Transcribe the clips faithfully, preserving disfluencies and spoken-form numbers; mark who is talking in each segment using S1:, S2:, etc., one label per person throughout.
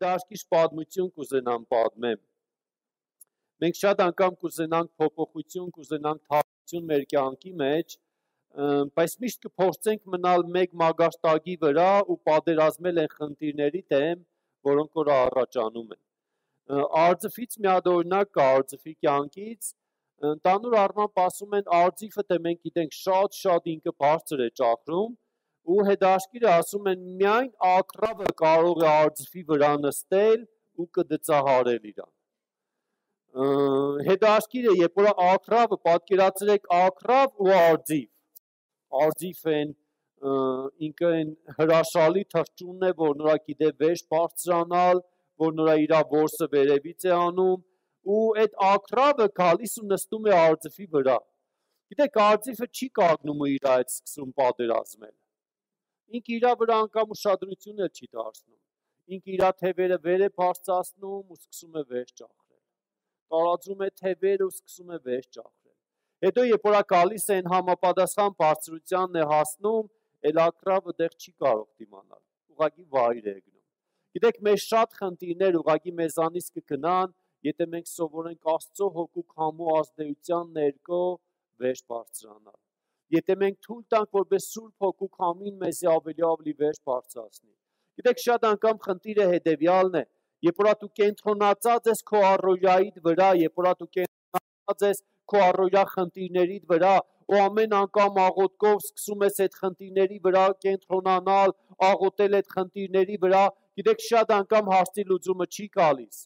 S1: հետաքրքիր պատմություն կուզենամ պատմեմ։ Մենք շատ անգամ կուզենանք փոփոխություն, կուզենանք թափություն մեր կյանքի մեջ, բայց միշտ կփորձենք մնալ մեկ մագարտակի վրա ու պատերազմել այն խնդիրների դեմ, որոնք որ առաջանում են։ Արձիֆից մի հատ օրինակ կա արձիֆի կյանքից, ընդհանուր առմամբ ասում են արձիֆը դե մենք գիտենք շատ-շատ ինքը բարձր է ճախրում ու հետաքրքիրը ասում են միայն ակռավը կարող է արձիֆի վրա նստել ու կդծահարել իրան։ Հետաքրքիրը երբ որ ակռավը պատկերացրեք ակռավ ու արձիվ, արձիվ են ինքը այն հրաշալի թռչունն է, որ նրա գիտե վեր բարձրանալ, որ նրա իր որսը վերևից է անում ու այդ ակռավը գալիս ու նստում է արձիվի վրա։ Գիտեք, արձիվը չի կանգնում ու իր այդ սկսում պատերազմել։ Ինքը իր վրա անգամ ուշադրություն էլ չի դարձնում։ Ինքը իր թևերը վեր է բարձրացնում ու սկսում է վեր ճախրել։ Տարածում է թևերը ու սկսում է վեր ճախրել։ Հետո երբ որ գալիս է այն համապատասխան բարձրությանն է հասնում, էլ ակռավը դեռ չի կարող դիմանալ։ Ուղղակի վայր է գնում։ Գիտեք, մեր շատ խնդիրներ ուղղակի մեզանից կգնան, եթե մենք սովորենք Աստծո հոգու քամու ազդեցության ներքո վեր բարձրանալ։ Եթե մենք թույլ տանք, որպես Սուրբ Հոգու քամին մեզի ավելի ավելի վեր բարձրացնի։ Գիտեք, շատ անգամ խնդիրը հետևյալն է, երբ որ դու կենտրոնացած ես քո առօրյայիդ վրա, երբ որ դու կենտրոնացած ես քո առօրյա խնդիրներիդ վրա, ու ամեն անգամ աղոթքով սկսում ես այդ խնդիրների վրա կենտրոնանալ, աղոթել այդ խնդիրների վրա, գիտեք, շատ անգամ հարցի լուծումը չի գալիս,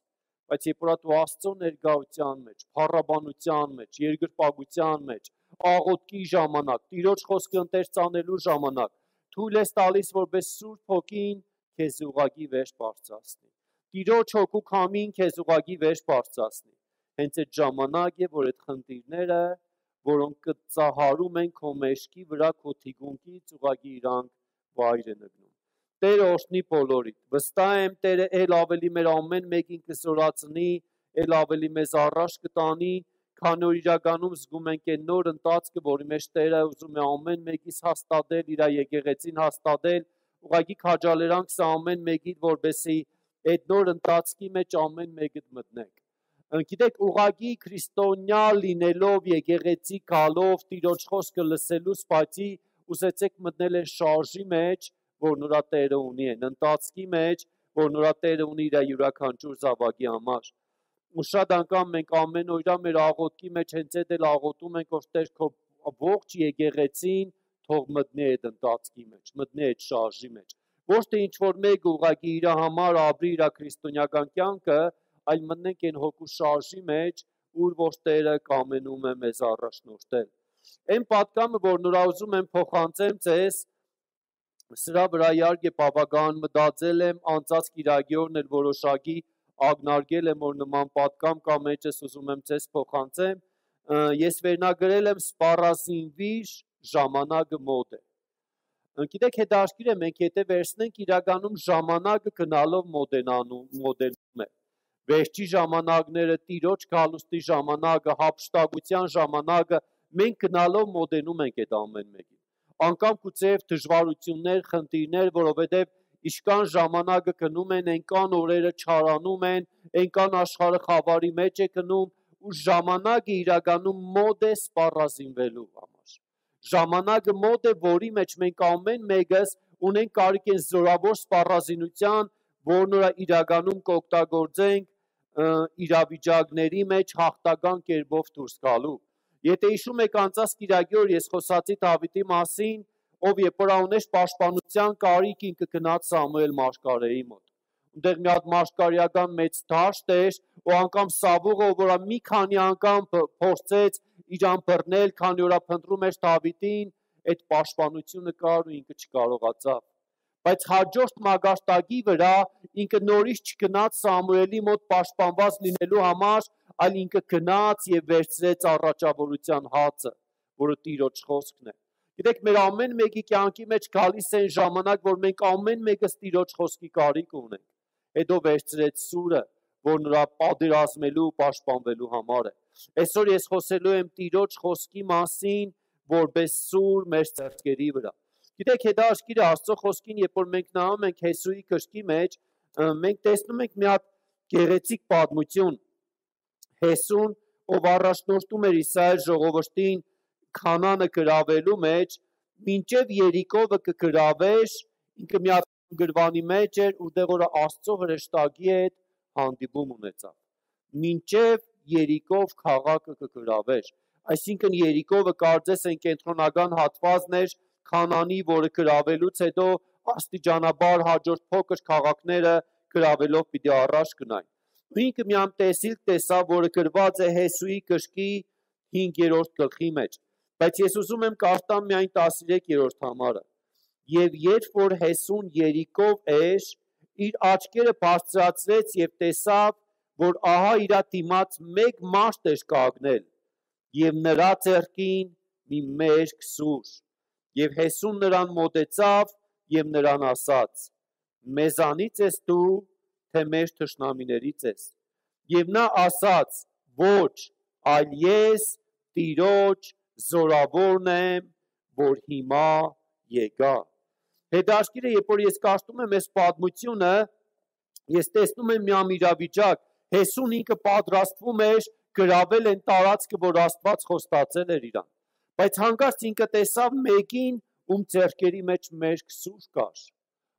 S1: բայց երբ որ դու Աստծո ներկայության մեջ, փառաբանության մեջ, երկրպագության մեջ, աղոթքի ժամանակ, Տիրոջ խոսքը ընթերցանելու ժամանակ, թույլ ես տալիս, որպես Սուրբ Հոգին քեզ ուղղակի վեր բարձրացնի։ Տիրոջ հոգու քամին քեզ ուղղակի վեր բարձրացնի։ Հենց այդ ժամանակ է, որ այդ խնդիրները, որոնք կծահարում են քո մեջքի վրա, քո թիկունքից ուղղակի իրանք վայր են ընկնում։ Տերը օրհնի բոլորիդ։ Վստահ եմ Տերը ել ավելի մեր ամեն մեկին կզորացնի, ել ավելի մեզ առաջ կտանի, քանի որ իրականում զգում ենք այն նոր ընթացքը, որի մեջ Տերը ուզում է ամեն մեկից հաստատել, իր եկեղեցին հաստատել, ուղղակի քաջալերանք սա ամեն մեկին, որպեսզի այդ նոր ընթացքի մեջ ամեն մեկը մտնենք։ Գիտեք, ուղղակի քրիստոնյա լինելով, եկեղեցի գալով, Տիրոջ խոսքը լսելուց բացի ուզեցեք մտնել այն շարժի մեջ, որ նրա Տերը ունի են, ընթացքի մեջ, որ նրա Տերը ունի իր յուրաքանչյուր զավակի համար։ Ու շատ անգամ մենք ամեն օրյա մեր աղոթքի մեջ հենց այդ էլ աղոթում ենք, որ Տեր քո ողջ եկեղեցին թող մտնի այդ ընթացքի մեջ, մտնի այդ շարժի մեջ։ Ոչ թե ինչ որ մեկ ուղղակի իր համար ապրի իր քրիստոնեական կյանքը, այլ մտնենք այն հոգու շարժի մեջ, ուր որ Տերը կամենում է մեզ առաջնորդել։ Այն պատկամը, որ նրա ուզում եմ փոխանցեմ ձեզ, սրա վրա իհարկե բավական մտածել եմ, անցած կիրակի օրն էլ որոշակի ակնարկել եմ, որ նման պատկամ կա մեջս ուզում եմ ձեզ փոխանցեմ, ես վերնագրել եմ սպառազինվիր, ժամանակը մոտ է։ Գիտեք, հետաքրքիր է, մենք եթե վերցնենք, իրականում ժամանակը գնալով մոդելնում է։ Վերջի ժամանակները, Տիրոջ գալուստի ժամանակը, հափշտակության ժամանակը, մենք գնալով մոդենում ենք այդ ամեն մեկին։ Անկամ գուցեև դժվարություններ, խնդիրներ, որովհետև իշքան ժամանակը գնում են, այնքան օրերը չարանում են, այնքան աշխարհը խավարի մեջ է գնում, ու ժամանակը իրականում մոտ է սպառազինվելու համար։ Ժամանակը մոտ է, որի մեջ մենք ամեն մեկս ունենք կարիք են զորավոր սպառազինության, որ նրա իրականում կօգտագործենք իրավիճակների մեջ հաղթական կերպով դուրս գալու։ Եթե հիշում եք անցած կիրակի օր ես խոսացի Դավիթի մասին, ով երբ որ ուներ պաշտպանության կարիք, ինքը գնաց Սամուել մարգարեի մոտ։ Այնտեղ մի հատ մարգարեական մեծ դաշտ էր, ու անգամ Սավուղը, որ մի քանի անգամ փորձեց իրան բռնել, քանի որ փնտրում էր Դավիթին, այդ պաշտպանությունը կար ու ինքը չկարողացավ։ Բայց հաջորդ մագարտակի վրա ինքը նորից չգնաց Սամուելի մոտ պաշտպանված լինելու համար, այլ ինքը գնաց եւ վերցրեց առաջավորության հացը, որը Տիրոջ խոսքն է։ Գիտեք, մեր ամեն մեկի կյանքի մեջ գալիս է այն ժամանակ, որ մենք ամեն մեկս Տիրոջ խոսքի կարիք ունենք։ Հետո վերցրեց սուրը, որ նրա պատերազմելու, պաշտպանվելու համար է։ Այսօր ես խոսելու եմ Տիրոջ խոսքի մասին, որպես սուր մեր սրտերի վրա։ Գիտեք, հետաքրքիր է Աստծո խոսքին, երբ որ մենք նայում ենք Հեսուի գրքի մեջ, մենք տեսնում ենք մի հատ գեղեցիկ պատմություն Հեսուն, ով առաջնորդում էր Իսրայել ժողովրդին Քանանը գրավելու մեջ, մինչև Երիկովը կգրավեր, ինքը մի հատ գրվանի մեջ էր, որտեղ որ Աստծո հրեշտակի հետ հանդիպում ունեցավ։ Մինչև Երիկով քաղաքը կգրավեր, այսինքն Երիկովը կարծես են կենտրոնական հատվածն էր Քանանի, որը գրավելուց հետո աստիճանաբար հաջորդ փոքր քաղաքները գրավելով պիտի առաջ գնային։ Ու ինքը մի համ տեսիլ տեսավ, որը գրված է Հեսուի գրքի հինգերորդ գլխի մեջ, բայց ես ուզում եմ կարդամ միայն տասներկերորդ համարը։ Եվ երբ որ Հեսուն Երիկով էր, իր աչքերը բարձրացրեց եւ տեսավ, որ ահա իր դիմաց մեկ մարդ էր կանգնել, եւ նրա ձեռքին մի մերկ սուր։ Եվ Հեսուն նրան մոտեցավ եւ նրան ասաց. Մեզանից ես դու, թե մեր թշնամիներից ես։ Եվ նա ասաց. ոչ, այլ ես Տիրոջ զորավորն եմ, որ հիմա եկա։ Հետաքրքիր է, երբ որ ես կարդում եմ այս պատմությունը, ես տեսնում եմ մի իրավիճակ, Հեսուն ինքը պատրաստվում էր գրավել այն տարածքը, որ Աստված խոստացել էր իրան։ Բայց հանկարծ ինքը տեսավ մեկին, ում ձեռքերի մեջ մերկ սուր կար։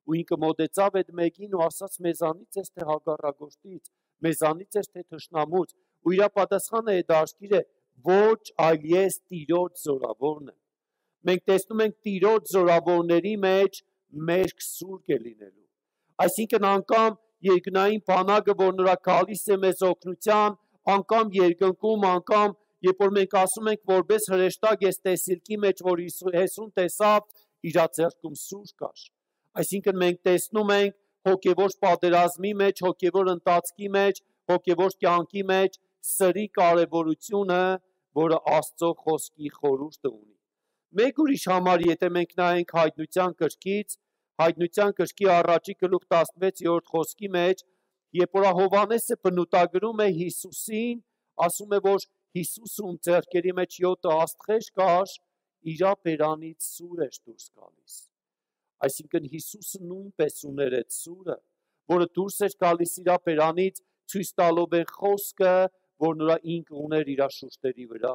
S1: Ու ինքը մոտեցավ այդ մեկին ու ասաց. մեզանից ես թե հակառակորդից, մեզանից ես թե թշնամուց։ Ու իր պատասխանը հետաքրքիր է. ոչ, այլ ես Տիրոջ զորավորն եմ։ Մենք տեսնում ենք Տիրոջ զորավորների մեջ մերկ սուրբ է լինելու։ Այսինքն անգամ երկնային բանակը, որ նրա գալիս է մեզ օգնության, անգամ երկնքում, անգամ երբ որ մենք ասում ենք որպես հրեշտակ ես տեսիլքի մեջ, որ Հեսուն տեսավ, իր ձեռքում սուր կար։ Այսինքն մենք տեսնում ենք հոգևոր պատերազմի մեջ, հոգևոր ընթացքի մեջ, հոգևոր կյանքի մեջ սրի կարևորությունը, որը Աստծո խոսքի խորհուրդը ունի։ Մեկ ուրիշ համար, եթե մենք նայենք Հայտնության գրքից, Հայտնության գրքի առաջի գլուխ տասնվեցերորդ խոսքի մեջ, երբ որ Հովհաննեսը բնութագրում է Հիսուսին, ասում է, որ Հիսուսում ձեռքերի մեջ յոթ աստղեր կար, իր բերանից սուր էր դուրս գալիս։ Այսինքն Հիսուսը նույնպես ուներ այդ սուրը, որը դուրս էր գալիս իր բերանից, ցույց տալով այն խոսքը, որ նրա ինքը ուներ իր շուրջերի վրա։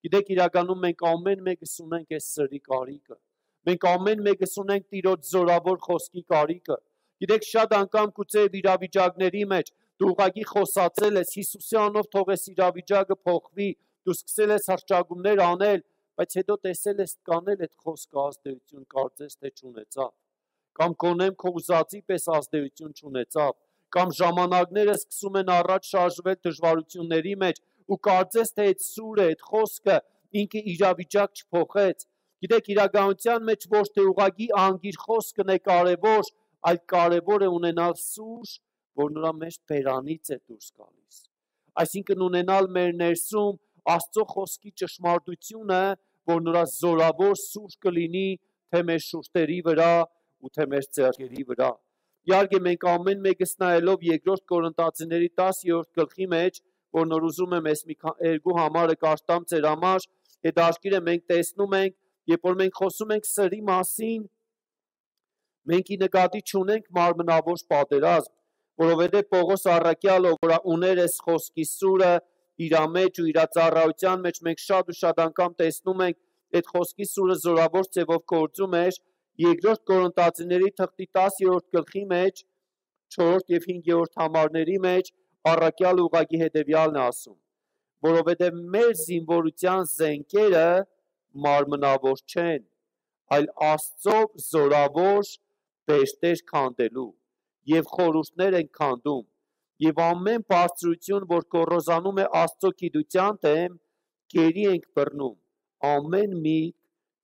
S1: Գիտեք, իրականում մենք ամեն մեկս ունենք այս սրի կարիքը։ Մենք ամեն մեկս ունենք Տիրոջ զորավոր խոսքի կարիքը։ Գիտեք, շատ անգամ գուցե իրավիճակների մեջ դու ուղղակի խոսացել ես Հիսուսի անունով թող այս իրավիճակը փոխվի, դու սկսել ես հրճագումներ անել, բայց հետո տեսել ես կանել այդ խոսքը ազդեցություն կարծես թե չունեցավ, կամ գոնեմ քո ուզածի պես ազդեցություն չունեցավ, կամ ժամանակները սկսում են առաջ շարժվել դժվարությունների մեջ ու կարծես թե այդ սուրը, այդ խոսքը ինքը իրավիճակ չփոխեց։ Գիտեք, իրականության մեջ ոչ թե ուղղակի անգիր խոսքն է կարևոր, այլ կարևոր է ունենալ սուր, որ նրա մեջ բերանից է դուրս գալիս։ Այսինքն ունենալ մեր ներսում Աստծո խոսքի ճշմարտությունը, որ նրա զորավոր սուր կլինի թե մեր շուրթերի վրա ու թե մեր ձեռքերի վրա։ Իհարկե մենք ամեն մեկս նայելով երկրորդ Կորինթացիների տասերորդ գլխի մեջ, որ նոր ուզում եմ այս մի երկու համարը կարդամ ձեր համար, հետաքրքիր է մենք տեսնում ենք, երբ որ մենք խոսում ենք սրի մասին, մենք ի նկատի չունենք մարմնավոր պատերազմ, որովհետև Պողոս առաքյալը, որ ուներ այս խոսքի սուրը իր մեջ ու իր ծառայության մեջ, մենք շատ ու շատ անգամ տեսնում ենք այդ խոսքի սուրը զորավոր ձևով գործում էր երկրորդ Կորինթացիների թղթի տասերորդ գլխի մեջ, չորրորդ եւ հինգերորդ համարների մեջ առաքյալը ուղղակի հետեւյալն է ասում, որովհետև մեր զինվորության զենքերը մարմնավոր չեն, այլ Աստծո զորավոր բերտեր քանդելու եւ խորհուրդներ են քանդում եւ ամեն բարձրություն, որ կոռոզանում է Աստծո գիտության դեմ, գերի ենք բռնում ամեն մի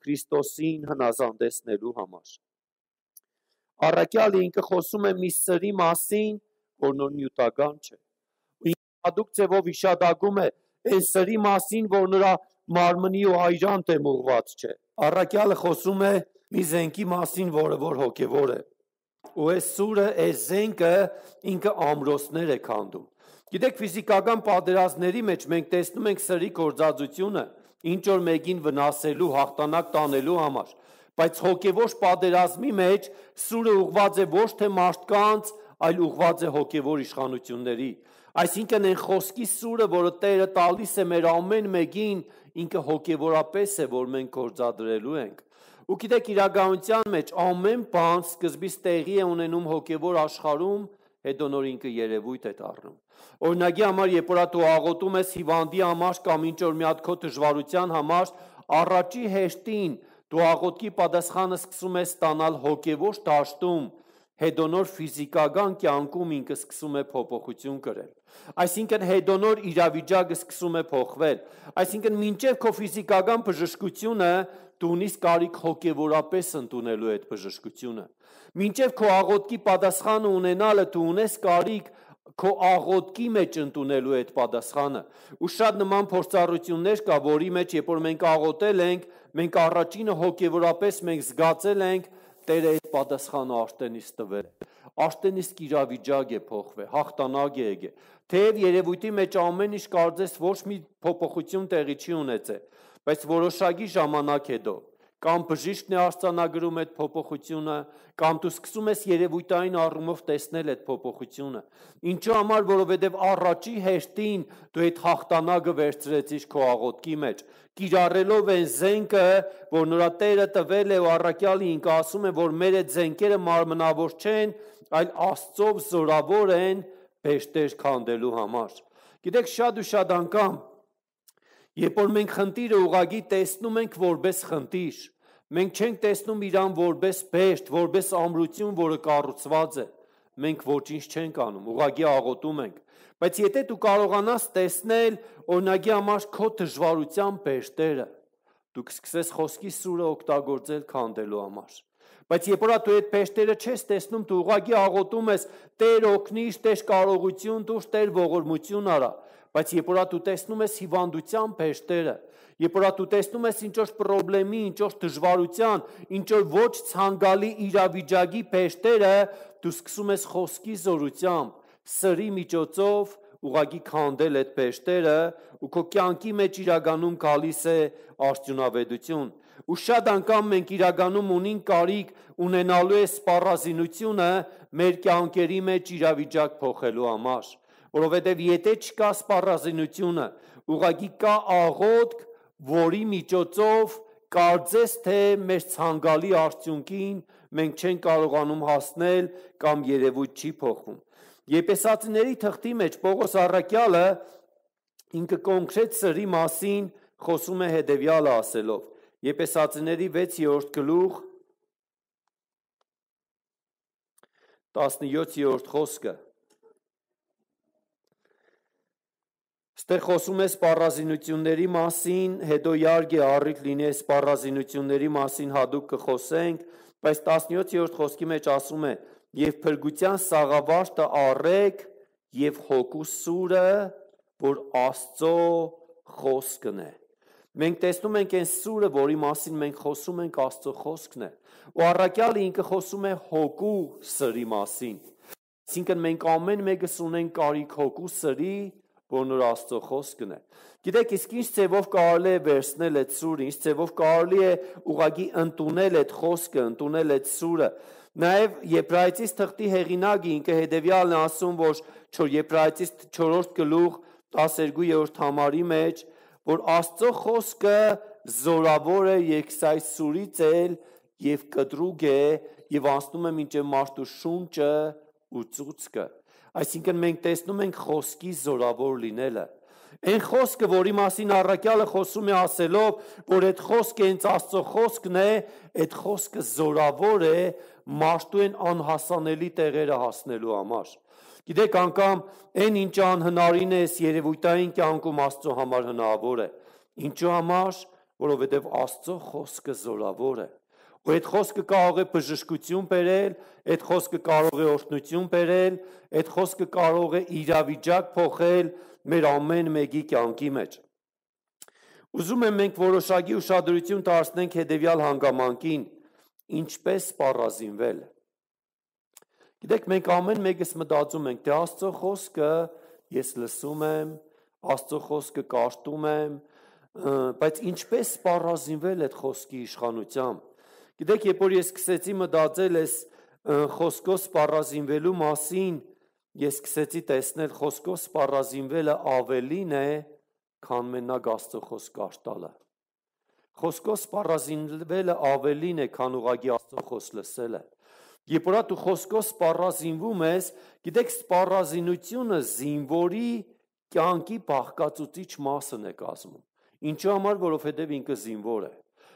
S1: Քրիստոսին հնազանդեցնելու համար։ Առաքյալը ինքը խոսում է մի սրի մասին, որ նոր նյութական չէ։ Ու ինքը հատուկ ձևով իշադակում է այն սրի մասին, որ նրա մարմնի ու այրան դեմ ուղված չէ։ Առաքյալը խոսում է մի զենքի մասին, որը որ հոգևոր է։ Ու այս սուրը, այս զենքը ինքը ամրոցներ է քանդում։ Գիտեք, ֆիզիկական պատերազմների մեջ մենք տեսնում ենք սրի գործածությունը, ինչ որ մեկին վնասելու, հաղթանակ տանելու համար, բայց հոգևոր պատերազմի մեջ սուրը ուղված է ոչ թե մարդկանց, այլ ուղղված է հոգևոր իշխանությունների։ Այսինքն այն խոսքի սուրը, որը Տերը տալիս է մեր ամեն մեկին, ինքը հոգևորապես է, որ մենք գործադրելու ենք։ Ու գիտեք, իրականության մեջ ամեն բան սկզբից տեղի է ունենում հոգևոր աշխարհում, հետո նոր ինքը երևույթ է դառնում։ Օրինակի համար, երբ որ դու աղոթում ես հիվանդի համար կամ ինչ որ մի հատ քո դժվարության համար, առաջի հերթին դու աղոթքի պատասխանը սկսում ես ստանալ հոգևոր դաշտում, հետո նոր ֆիզիկական կյանքում ինքը սկսում է փոփոխություն կրել։ Այսինքն հետո նոր իրավիճակը սկսում է փոխվել։ Այսինքն մինչև քո ֆիզիկական բժշկությունը դու ունիս կարիք հոգևորապես ընդունելու այդ բժշկությունը։ Մինչև քո աղոթքի պատասխանը ունենալը դու ունես կարիք քո աղոթքի մեջ ընդունելու այդ պատասխանը։ Ու շատ նման փորձառություններ կա, որի մեջ երբ որ մենք աղոթել ենք, մենք առաջինը հոգևորապես մենք զգացել ենք Տերը այդ պատասխանը արտենից տվել։ Արտենիսկ իրավիճակ է փոխվել, հաղթանակ է եկել։ Թեև երևույթի մեջ ամեն ինչ կարծես ոչ մի փոփոխություն տեղի չի ունեցել, բայց որոշակի ժամանակ հետո կամ բժիշկն է արձանագրում այդ փոփոխությունը, կամ դու սկսում ես երևույթային առումով տեսնել այդ փոփոխությունը։ Ինչու համար, որովհետև առաջի հերթին դու այդ հաղթանակը վերցրեցիր քո աղոթքի մեջ, կիրառելով այն զենքը, որ նրա Տերը տվել է, ու առաքյալը ինքը ասում է, որ մեր այդ զենքերը մարմնավոր չեն, այլ Աստծով զորավոր են բեշտեր քանդելու համար։ Գիտեք, շատ ու շատ անգամ, երբ որ մենք խնդիրը ուղղակի տեսնում ենք որպես խնդիր, մենք չենք տեսնում իրան որպես բեշտ, որպես ամրություն, որը կառուցված է, մենք ոչինչ չենք անում, ուղղակի աղոթում ենք։ Բայց եթե դու կարողանաս տեսնել օրինակի համար քո դժվարության բեշտերը, դու կսկսես խոսքի սուրը օգտագործել քանդելու համար։ Բայց երբ որ դու այդ բեշտերը չես տեսնում, դու ուղղակի աղոթում ես Տեր օգնիր, Տեր կարողություն տուր, Տեր ողորմություն արա։ Բայց երբ որ դու տեսնում ես հիվանդության բեշտերը, երբ որ դու տեսնում ես ինչ որ խնդրի, ինչ որ դժվարության, ինչ որ ոչ ցանկալի իրավիճակի բեշտերը, դու սկսում ես խոսքի զորությամբ, սրի միջոցով ուղղակի քանդել այդ բեշտերը, ու քո կյանքի մեջ իրականում գալիս է արդյունավետություն։ Ու շատ անգամ մենք իրականում ունենք կարիք ունենալու է սպառազինությունը մեր կյանքերի մեջ իրավիճակ փոխելու համար, որովհետև եթե չկա սպառազինությունը, ուղղակի կա աղոթք, որի միջոցով կարծես թե մեր ցանկալի արդյունքին մենք չենք կարողանում հասնել կամ երևույթ չի փոխվում։ Եփեսացիների թղթի մեջ Պողոս առաքյալը ինքը կոնկրետ սրի մասին խոսում է հետևյալը ասելով. Եփեսացիների վեցերորդ գլուխ տասնյոթերորդ խոսքը։ Ստեղ խոսում է սպառազինությունների մասին, հետո իհարկե առիթ լինի սպառազինությունների մասին հատուկ կխոսենք, բայց տասնյոթերորդ խոսքի մեջ ասում է. «Եվ փրկության սաղավարտը առեք եւ հոգու սուրը, որ Աստծո խոսքն է»։ Մենք տեսնում ենք այն սուրը, որի մասին մենք խոսում ենք, Աստծո խոսքն է։ Ու առաքյալը ինքը խոսում է հոգու սրի մասին։ Այսինքն մենք ամեն մեկս ունենք կարիք հոգու սրի, որ նոր Աստծո խոսքն է։ Գիտեք, իսկ ինչ ձևով կարելի է վերցնել այդ սուրը, ինչ ձևով կարելի է ուղղակի ընդունել այդ խոսքը, ընդունել այդ սուրը։ Նաև Եբրայեցիս թղթի հեղինակը ինքը հետևյալն է ասում, որ Եբրայեցիս չորրորդ գլուխ տասներկուերորդ համարի մեջ, որ Աստծո խոսքը զորավոր է երկսայր սուրից էլ եւ կտրուկ է եւ անցնում է մինչեւ մարդու շունչը ու ծուցկը։ Այսինքն մենք տեսնում ենք խոսքի զորավոր լինելը։ Այն խոսքը, որի մասին առաքյալը խոսում է ասելով, որ այդ խոսքը հենց Աստծո խոսքն է, այդ խոսքը զորավոր է մարդու են անհասանելի տեղերը հասնելու համար։ Գիտեք, անգամ այն ինչ անհնարին է երևույթային կյանքում Աստծո համար հնարավոր է։ Ինչու համար, որովհետև Աստծո խոսքը զորավոր է։ Ու այդ խոսքը կարող է բժշկություն բերել, այդ խոսքը կարող է օրհնություն բերել, այդ խոսքը կարող է իրավիճակ փոխել մեր ամեն մեկի կյանքի մեջ։ Ուզում եմ մենք որոշակի ուշադրություն դարձնենք հետևյալ հանգամանքին, ինչպես սպառազինվել։ Գիտեք, մենք ամեն մեկս մտածում ենք, թե Աստծո խոսքը ես լսում եմ, Աստծո խոսքը կարդում եմ, բայց ինչպես սպառազինվել այդ խոսքի իշխանությամբ։ Գիտեք, երբ որ ես սկսեցի մտածել այս խոսքով սպառազինվելու մասին ես սկսեցի տեսնել խոսքով սպառազինվելը ավելին է, քան մենակ Աստծո խոսք արտալը։ Խոսքով սպառազինվելը ավելին է, քան ուղղակի Աստծո խոսք լսելը։ Երբ որ դու խոսքով սպառազինվում ես, գիտեք, սպառազինությունը զինվորի կյանքի բաղկացուցիչ մասն է կազմում։ Ինչու համար, որովհետև ինքը զինվոր է։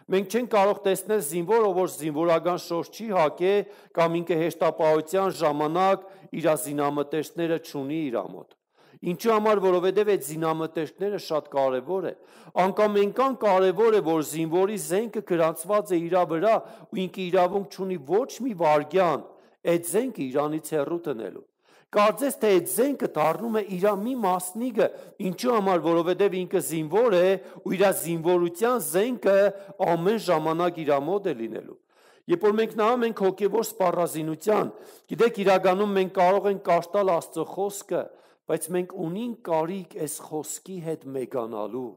S1: Մենք չենք կարող տեսնել զինվորը, որ զինվորական շորջ չի հագե կամ ինքը հեշտապահության ժամանակ իր զինամթերքները չունի իր մոտ։ Ինչու համար, որովհետև այդ զինամթերքները շատ կարևոր է։ Անկամ այնքան կարևոր է, որ զինվորի զենքը գրանցված է իր վրա ու ինքը իրավունք չունի ոչ մի վայրկյան այդ զենքը իրանից հեռու տնելու։ Կարծես թե այդ զենքը դառնում է իր մի մասնիկը, ինչու համար, որովհետև ինքը զինվոր է ու իր զինվորության զենքը ամեն ժամանակ իր մոտ է լինելու։ Երբ որ մենք նայում ենք հոգևոր սպառազինության, գիտեք, իրականում մենք կարող ենք կաշտալ Աստծո խոսքը, բայց մենք ունենք կարիք այս խոսքի հետ մեգանալու,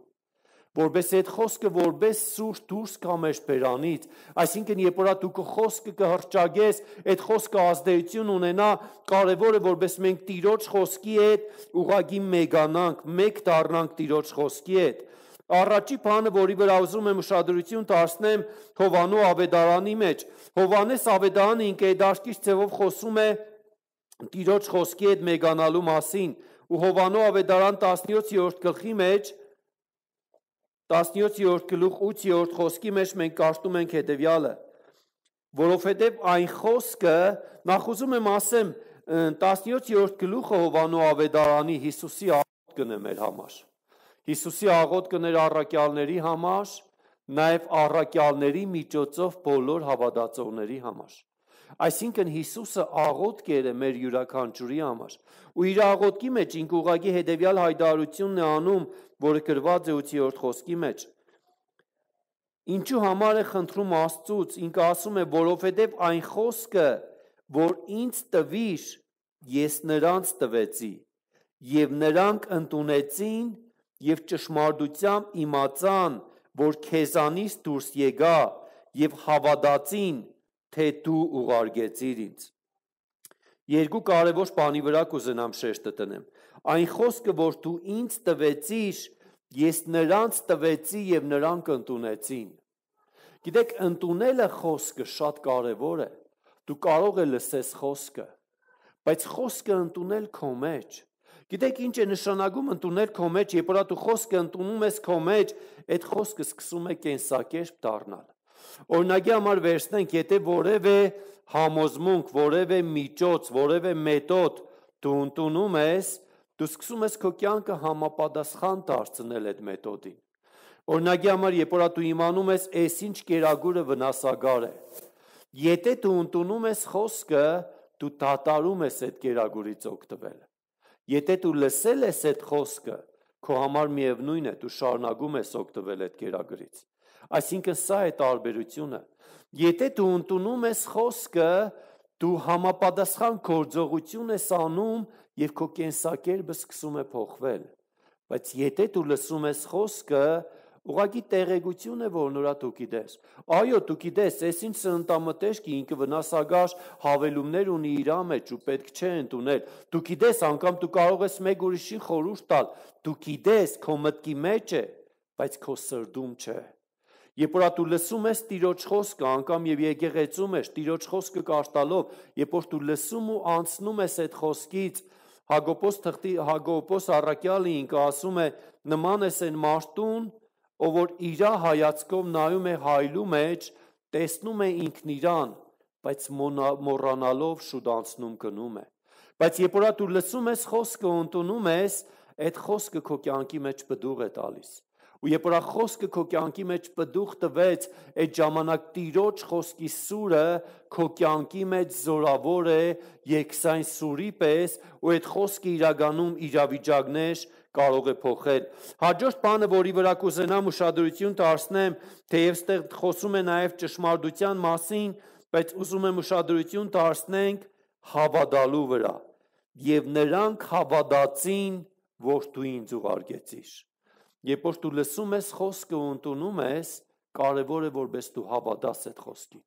S1: որպես այդ խոսքը որպես սուր դուրս գա մեր բերանից, այսինքն երբ որ դու քո խոսքը կհրճագես, այդ խոսքը ազդեցություն ունենա, կարևոր է որպես մենք Տիրոջ խոսքի հետ ուղղակի մեգանանք, մեկ դառնանք Տիրոջ խոսքի հետ։ Առաջի բանը, որի վրա ուզում եմ ուշադրություն դարձնեմ Հովանու ավետարանի մեջ, Հովանես ավետարանը ինքեդաշկիչ ձևով խոսում է Տիրոջ խոսքի հետ մեգանալու մասին, ու Հովանու ավետարան տասնյոթերորդ գլխի մեջ տասնյոթերորդ գլուխ ութերորդ խոսքի մեջ մենք կարդում ենք հետևյալը, որովհետև այն խոսքը, նախ ուզում եմ ասեմ, տասնյոթերորդ գլուխը Հովանու ավետարանի Հիսուսի աղոթքն է մեր համար։ Հիսուսի աղոթքն էր առաքյալների համար, նաև առաքյալների միջոցով բոլոր հավատացողների համար։ Այսինքն Հիսուսը աղոթքեր է մեր յուրաքանչյուրի համար։ Ու իր աղոթքի մեջ ինքը ուղղակի հետևյալ հայտարարությունն է անում, որը գրված է ութերորդ խոսքի մեջ։ Ինչու համար է խնդրում Աստծուց, ինքը ասում է, որովհետև այն խոսքը, որ ինձ տվիր, ես նրանց տվեցի, եւ նրանք ընդունեցին եւ ճշմարտությամբ իմացան, որ քեզանից դուրս եկա եւ հավատացին, թե դու ուղարկեցիր ինձ։ Երկու կարևոր բանի վրա կուզենամ շեշտը տնեմ։ Այն խոսքը, որ դու ինձ տվեցիր, ես նրանց տվեցի եւ նրանք ընդունեցին։ Գիտեք, ընդունելը խոսքը շատ կարևոր է։ Դու կարող ես լսես խոսքը, բայց խոսքը ընդունել քո մեջ։ Գիտեք, ինչ է նշանակում ընդունել քո մեջ, երբ որ դու խոսքը ընդունում ես քո մեջ, այդ խոսքը սկսում է կենսակերպ դառնալ։ Օրինակի համար վերցնենք, եթե որևէ համոզմունք, որևէ միջոց, որևէ մեթոդ դու ընդունում ես, դու սկսում ես քո կյանքը համապատասխան դարձնել այդ մեթոդին։ Օրինակի համար, երբ որ դու իմանում ես, այսինչ կերակուրը վնասակար է։ Եթե դու ընդունում ես խոսքը, դու դադարում ես այդ կերակուրից օգտվել։ Եթե դու լսել ես այդ խոսքը, քո համար միևնույն է, դու շարունակում ես օգտվել այդ կերակուրից։ Այսինքն սա է տարբերությունը։ Եթե դու ընդունում ես խոսքը, դու համապատասխան գործողություն ես անում եւ քո կենսակերպը սկսում է փոխվել։ Բայց եթե դու լսում ես խոսքը, ուղղակի տեղեկություն է, որ նորա դու գիտես։ Այո, դու գիտես, այս ինչ սննդամթերքի ինքը վնասակար հավելումներ ունի իր մեջ ու պետք չէ ընդունել։ Դու գիտես, անգամ դու կարող ես մեկ ուրիշին խորհուրդ տալ։ Դու գիտես, քո մտքի մեջ է, բայց քո սրտում չէ։ Երբ որ դու լսում ես Տիրոջ խոսքը, անգամ եւ եկեղեցում ես Տիրոջ խոսքը կարդալով, երբ որ դու լսում ու անցնում ես այդ խոսքից, Հակոբոս թղթի Հակոբոս առաքյալը ինքը ասում է, նման է այն մարդուն, ով որ իր հայացքով նայում է հայլու մեջ, տեսնում է ինքն իրան, բայց մոռանալով շուտ անցնում գնում է։ Բայց երբ որ դու լսում ես խոսքը, ընդունում ես, այդ խոսքը քո կյանքի մեջ բդուղ է տալիս։ Ու երբ որ խոսքը քո կյանքի մեջ բդուղ տվեց, այդ ժամանակ Տիրոջ խոսքի սուրը քո կյանքի մեջ զորավոր է երկսայն սուրի պես, ու այդ խոսքը իրականում իրավիճակներ կարող է փոխել։ Հաջորդ բանը, որի վրա կուզենամ ուշադրություն դարձնեմ, թեև ստեղ խոսում է նաև ճշմարտության մասին, բայց ուզում եմ ուշադրություն դարձնենք հավատալու վրա։ Եվ նրանք հավատացին, որ դու ինձ ուղարկեցիր։ Երբ որ դու լսում ես խոսքը ու ընդունում ես, կարևոր է որպես դու հավատաս այդ խոսքին։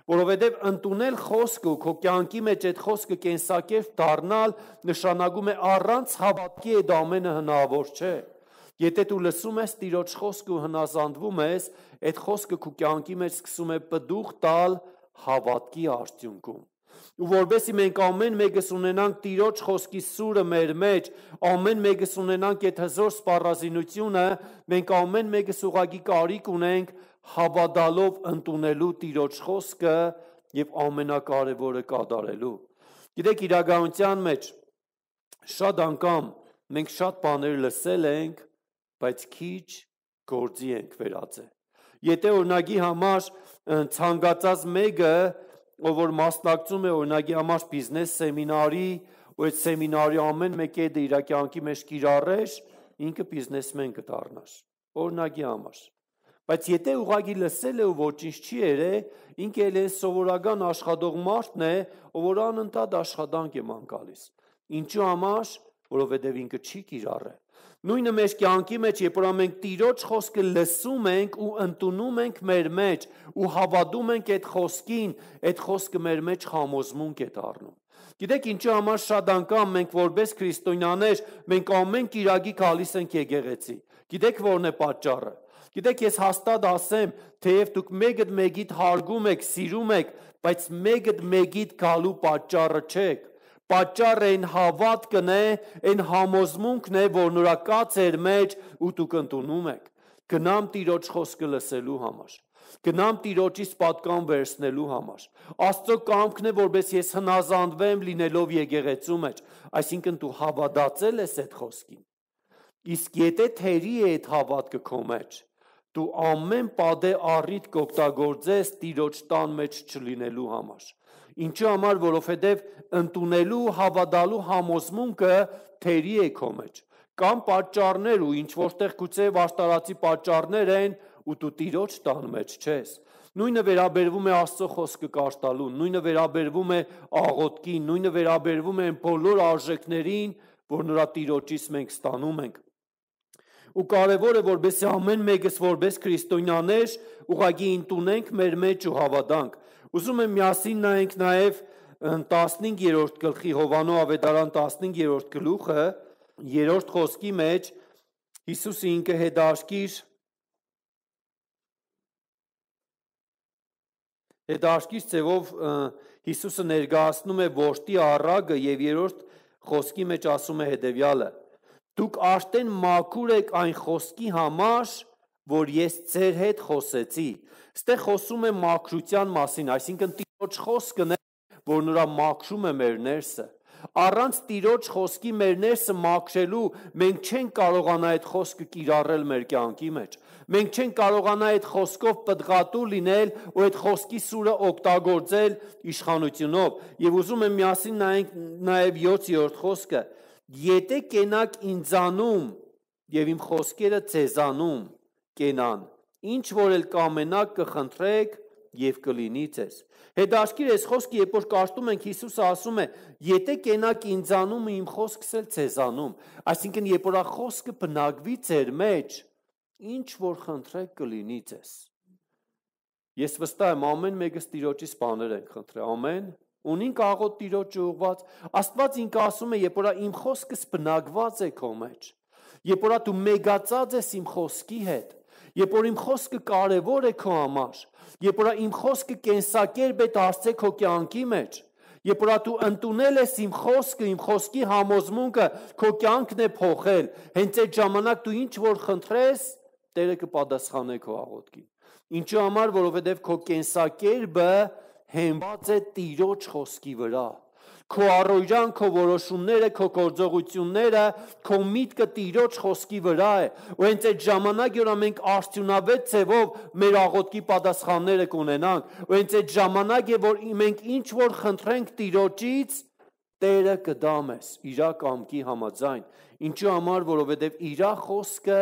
S1: Որովհետև ընդունել խոսքը ու քո կյանքի մեջ այդ խոսքը կենսակերպ դառնալ նշանակում է առանց հավատքի այդ ամենը հնարավոր չէ։ Եթե դու լսում ես Տիրոջ խոսքը ու հնազանդվում ես, այդ խոսքը քո կյանքի մեջ սկսում է պտուղ տալ հավատքի արդյունքում։ Ու որովհետեւ մենք ամեն մեկս ունենանք Տիրոջ խոսքի սուրը մեր մեջ, ամեն մեկս ունենանք այդ հզոր սպառազինությունը, մենք ամեն մեկս ուղղակի կարիք ունենք հավատալով ընդունելու Տիրոջ խոսքը եւ ամենակարևորը կատարելու։ Գիտեք, իրականության մեջ շատ անգամ մենք շատ բաներ լսել ենք, բայց քիչ գործի ենք վերածել։ Եթե օրինակի համար ցանկացած մեկը, ով որ մասնակցում է օրինակի համար բիզնես սեմինարի, ու այդ սեմինարի ամեն մեկը դա իր կյանքի մեջ կիրառեր, ինքը բիզնեսմեն կդառնար։ Օրինակի համար։ Բայց եթե ուղղակի լսել է ու ոչինչ չի երել, ինքը էլ սովորական աշխատող մարդն է, ով որ անընդհատ աշխատանք է ման գալիս։ Ինչու համար, որովհետև ինքը չի կիրառել։ Նույնը մեր կյանքի մեջ, երբ որ մենք Տիրոջ խոսքը լսում ենք ու ընդունում ենք մեր մեջ ու հավատում ենք այդ խոսքին, այդ խոսքը մեր մեջ համոզմունք է դառնում։ Գիտեք ինչու համար շատ անգամ մենք որպես քրիստոնյաներ մենք ամեն կիրակի գալիս ենք եկեղեցի։ Գիտեք որն է պատճառը։ Գիտեք ես հաստատ ասեմ, թեև դուք մեկդ մեկիդ հարգում եք, սիրում եք, բայց մեկդ մեկիդ գալու պատճառը չեք։ Պատճառը այն հավատքն է, այն համոզմունքն է, որ նրա կա ձեր մեջ ու դուք ընդունում եք։ Գնամ Տիրոջ խոսքը լսելու համար։ Գնամ Տիրոջից պատկան վերցնելու համար։ Աստծո կամքն է, որպես ես հնազանդվեմ լինելով եկեղեցու մեջ, այսինքն դու հավատացել ես այդ խոսքին։ Իսկ եթե թերի է այդ հավատքը քո մեջ, դու ամեն պատե առիթ կօգտագործես Տիրոջ տան մեջ չլինելու համար։ Ինչու համար, որովհետև ընդունելու, հավատալու համոզմունքը թերի է քո մեջ։ Կամ պատճառներ ու ինչ որտեղ գուցե աշտարացի պատճառներ են ու դու Տիրոջ տան մեջ չես։ Նույնը վերաբերվում է Աստծո խոսքը կարտալուն, նույնը վերաբերվում է աղոթքին, նույնը վերաբերվում է բոլոր արժեքներին, որ նրա Տիրոջից մենք ստանում ենք։ Ու կարևոր է, որբեսի ամեն մեկս որպես քրիստոնյաներ ուղղակի ընդունենք մեր մեջ ու հավատանք։ Ուզում եմ միասին նայենք նաև տասնհինգերորդ գլխի Հովաննես ավետարան տասնհինգերորդ գլուխը, երրորդ խոսքի մեջ Հիսուսը ինքը հետարքիր հետարքիր ձևով Հիսուսը ներկայացնում է որդի առագը եւ երրորդ խոսքի մեջ ասում է հետեւյալը. Դուք արդեն մաքուր եք այն խոսքի համար, որ ես ձեր հետ խոսեցի։ Այստեղ խոսում է մաքրության մասին, այսինքն Տիրոջ խոսքն է, որ նրա մաքրում է մեր ներսը։ Առանց Տիրոջ խոսքի մեր ներսը մաքրելու մենք չենք կարողանա այդ խոսքը կիրառել մեր կյանքի մեջ։ Մենք չենք կարողանա այդ խոսքով պտղատու լինել ու այդ խոսքի սուրը օգտագործել իշխանությունով։ Եվ ուզում եմ միասին նայենք նաև յոթերորդ խոսքը. Եթե կենաք ինձանում եւ իմ խոսքերը ձեզանում կենան, ինչ որ էլ կամենաք կխնդրեք եւ կլինի ձեզ։ Հետաքրքիր է այս խոսքը, երբ որ կարդում ենք, Հիսուսը ասում է. եթե կենաք ինձանում իմ խոսքս էլ ձեզանում, այսինքն երբ որ խոսքը բնակվի ձեր մեջ, ինչ որ խնդրեք կլինի ձեզ։ Ես վստահ եմ ամեն մեկս Տիրոջից բաներ ենք խնդրել, ամեն, ունին աղոտ Տիրոջ ուղված, Աստված ինքը ասում է, երբ որ իմ խոսքս բնակված է քո մեջ, երբ որ դու մեգացած ես իմ խոսքի հետ, երբ որ իմ խոսքը կարևոր է քո համար, երբ որ իմ խոսքը կենսակերպ է դարձել քո կյանքի մեջ, երբ որ դու ընդունել ես իմ խոսքը, իմ խոսքի համոզմունքը, քո կյանքն է փոխել, հենց այդ ժամանակ դու ինչ որ խնդրես, Տերը կպատասխանե քո աղոթքին։ Ինչու համար, որովհետև քո կենսակերպը հենված է Տիրոջ խոսքի վրա։ Քո առօրյան, քո որոշումները, քո գործողությունները, քո միտքը Տիրոջ խոսքի վրա է։ Ու հենց այդ ժամանակ, որ մենք արդյունավետ ձևով մեր աղոթքի պատասխանները կունենանք, ու հենց այդ ժամանակ է, որ մենք ինչ որ խնդրենք Տիրոջից, Տերը կդա մեզ իր կամքի համաձայն։ Ինչու համար, որովհետև իր խոսքը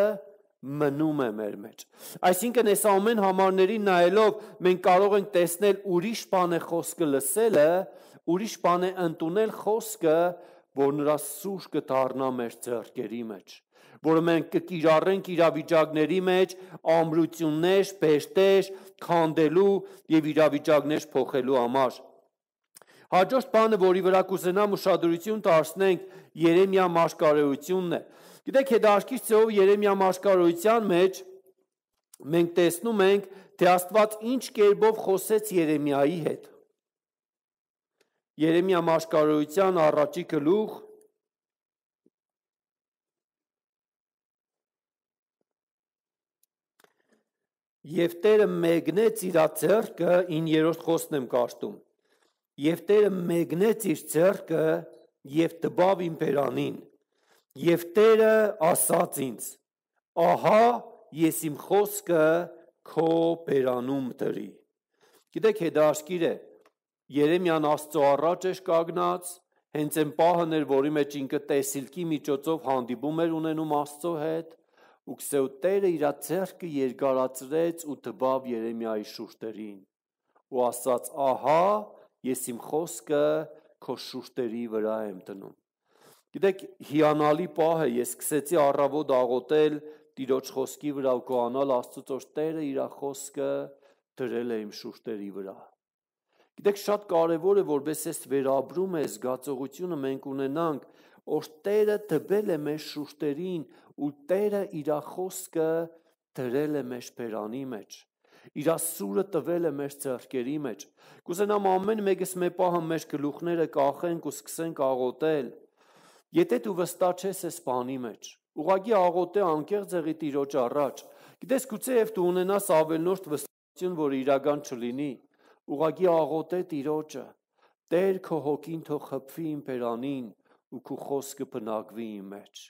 S1: մնում է մեր մեջ։ Այսինքն այս ամեն համարներին նայելով մենք կարող ենք տեսնել ուրիշ բան է խոսքը լսելը, ուրիշ բան է ընդունել խոսքը, որ նրա սուր կդառնա մեր ձեռքերի մեջ, որը մենք կկիրառենք իրավիճակների մեջ ամրություններ, բերտեր, քանդելու եւ իրավիճակներ փոխելու համար։ Հաջորդ բանը, որի վրա կուզենամ ուշադրություն դարձնենք, Երեմիա մարգարեությունն է։ Գիտեք, հետաքրքիր ծով Երեմիա մարգարեության մեջ մենք տեսնում ենք, թե Աստված ինչ կերպով խոսեց Երեմիայի հետ։ Երեմիա մարգարեության առաջի գլուխ Եվ Տերը մեկնեց իր ձեռքը, ին երրորդ խոսքն եմ կարդում։ Եվ Տերը մեկնեց իր ձեռքը եւ տվավ իմ բերանին։ Եվ Տերը ասաց ինձ. ահա ես իմ խոսքը քո բերանում դրի։ Գիտեք, հետաքրքիր է, Երեմիան Աստծո առաջ էր կանգնած, հենց այն պահն էր, որի մեջ ինքը տեսիլքի միջոցով հանդիպում էր ունենում Աստծո հետ, ու քսեու Տերը իր ձեռքը երկարացրեց ու տվավ Երեմիայի շուրթերին ու ասաց. ահա ես իմ խոսքը քո շուրթերի վրա եմ դնում։ Գիտեք, հիանալի պահ է, ես սկսեցի առավոտ աղոթել Տիրոջ խոսքի վրա ու գոհանալ Աստծուց, որ Տերը իր խոսքը դրել է իմ շուրթերի վրա։ Գիտեք, շատ կարևոր է, որպես այս վերաբրում է զգացողությունը մենք ունենանք, որ Տերը տվել է մեր շուրթերին ու Տերը իր խոսքը դրել է մեր բերանի մեջ։ Իր սուրը տվել է մեր ձեռքերի մեջ։ Կուզենամ ամեն մեկս մեր պահը մեր գլուխները կախենք ու սկսենք աղոթել։ Եթե դու վստահ ես այս բանի մեջ, ուղղակի աղոթե անկեղծ եղի Տիրոջ առաջ։ Գիտես, գուցեև դու ունենաս ավելնորդ վստահություն, որ իրական չլինի։ Ուղղակի աղոթե Տիրոջը, Տեր քո հոգին թող խփվի իմ բերանին ու քո խոսքը բնակվի իմ մեջ։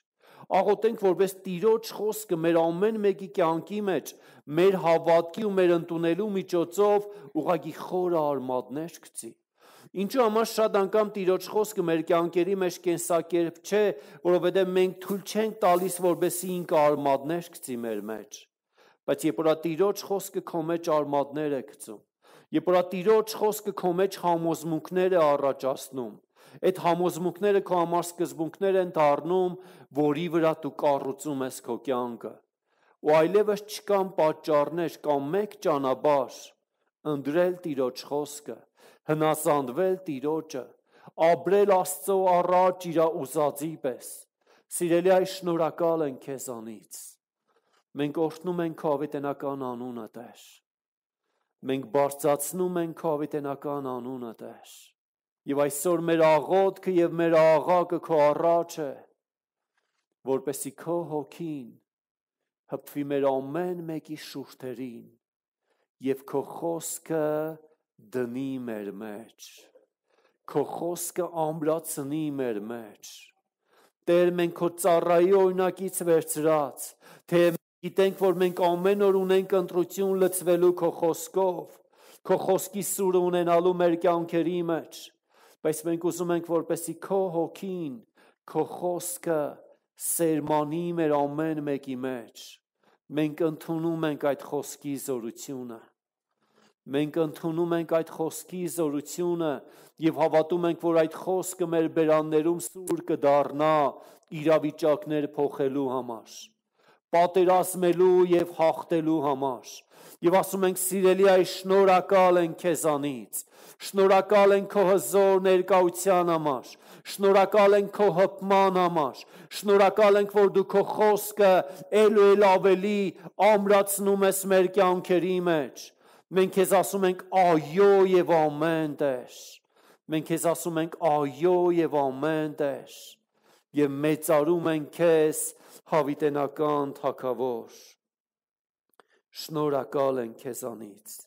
S1: Աղոթենք, որպես Տիրոջ խոսքը մեր ամեն մեկի կյանքի մեջ, մեր հավատքի ու մեր ընդունելու միջոցով ուղղակի խորը արմատներ գցի։ Ինչու համար շատ անգամ Տիրոջ խոսքը մեր կյանքերի մեջ կենսակերպ չէ, որովհետև մենք թույլ չենք տալիս, որպեսզի ինքը արմատներ գցի մեր մեջ։ Բայց երբ որ Տիրոջ խոսքը քո մեջ արմատներ է գցում, երբ որ Տիրոջ խոսքը քո մեջ համոզմունքներ է առաջացնում, այդ համոզմունքները քո համար սկզբունքներ են դառնում, որի վրա դու կառուցում ես քո կյանքը։ Ու այլևս չկան պատճառներ, կան մեկ ճանապարհ՝ ընտրել Տիրոջ խոսքը, հնազանդվել Տիրոջը, ապրել Աստծո առաջ իր ուզածի պես։ Սիրելի այ, շնորհակալ ենք քեզանից։ Մենք օրհնում ենք քո ավետենական անունը, Տեր։ Մենք բարձրացնում ենք քո ավետենական անունը, Տեր։ Եվ այսօր մեր աղոթքը եւ մեր աղաղակը քո առաջ է, որպեսզի քո հոգին հպվի մեր ամեն մեկի շուրթերին եւ քո խոսքը դնի մեր մեջ, քո խոսքը ամրացնի մեր մեջ։ Տեր, մենք քո ծառայի օրինակից վերցրած, թե գիտենք, որ մենք ամեն օր ունենք ընտրություն լցվելու քո խոսքով, քո խոսքի սուրը ունենալու մեր կյանքերի մեջ, բայց մենք ուզում ենք, որպեսզի քո հոգին, քո խոսքը սերմանի մեր ամեն մեկի մեջ։ Մենք ընդունում ենք այդ խոսքի զորությունը։ Մենք ընդունում ենք այդ խոսքի զորությունը եւ հավատում ենք, որ այդ խոսքը մեր բերաններում սուր կդառնա իրավիճակներ փոխելու համար, պատերազմելու եւ հաղթելու համար։ Եվ ասում ենք, սիրելի այ, շնորհակալ ենք քեզանից, շնորհակալ ենք քո հզոր ներկայության համար, շնորհակալ ենք քո հպման համար, շնորհակալ ենք, որ դու քո խոսքը ել ու ել ավելի ամրացնում ես մեր կյանքերի մեջ։ Մենք քեզ ասում ենք այո եւ ամեն, Տեր։ Մենք քեզ ասում ենք այո եւ ամեն, Տեր։ Եվ մեծարում ենք քեզ, հավիտենական Թագավոր։ Շնորհակալ ենք քեզանից։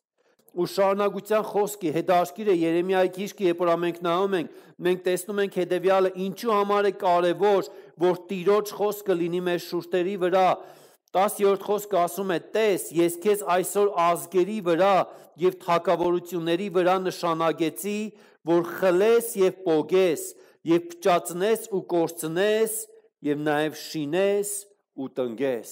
S1: Ու շարունակության խոսքի հետաքրքիր է Երեմիայի գիրքը, երբ որ մենք նայում ենք, մենք տեսնում ենք հետևյալը, ինչու համար է կարևոր, որ Տիրոջ խոսքը լինի մեր շուրթերի վրա։ տասերորդ խոսքը ասում է. «Տես, ես քեզ այսօր ազգերի վրա եւ թագավորությունների վրա նշանագեցի, որ խլես եւ պոգես, եւ փճացնես ու կորցնես, եւ նաեւ շինես ու տնգես»։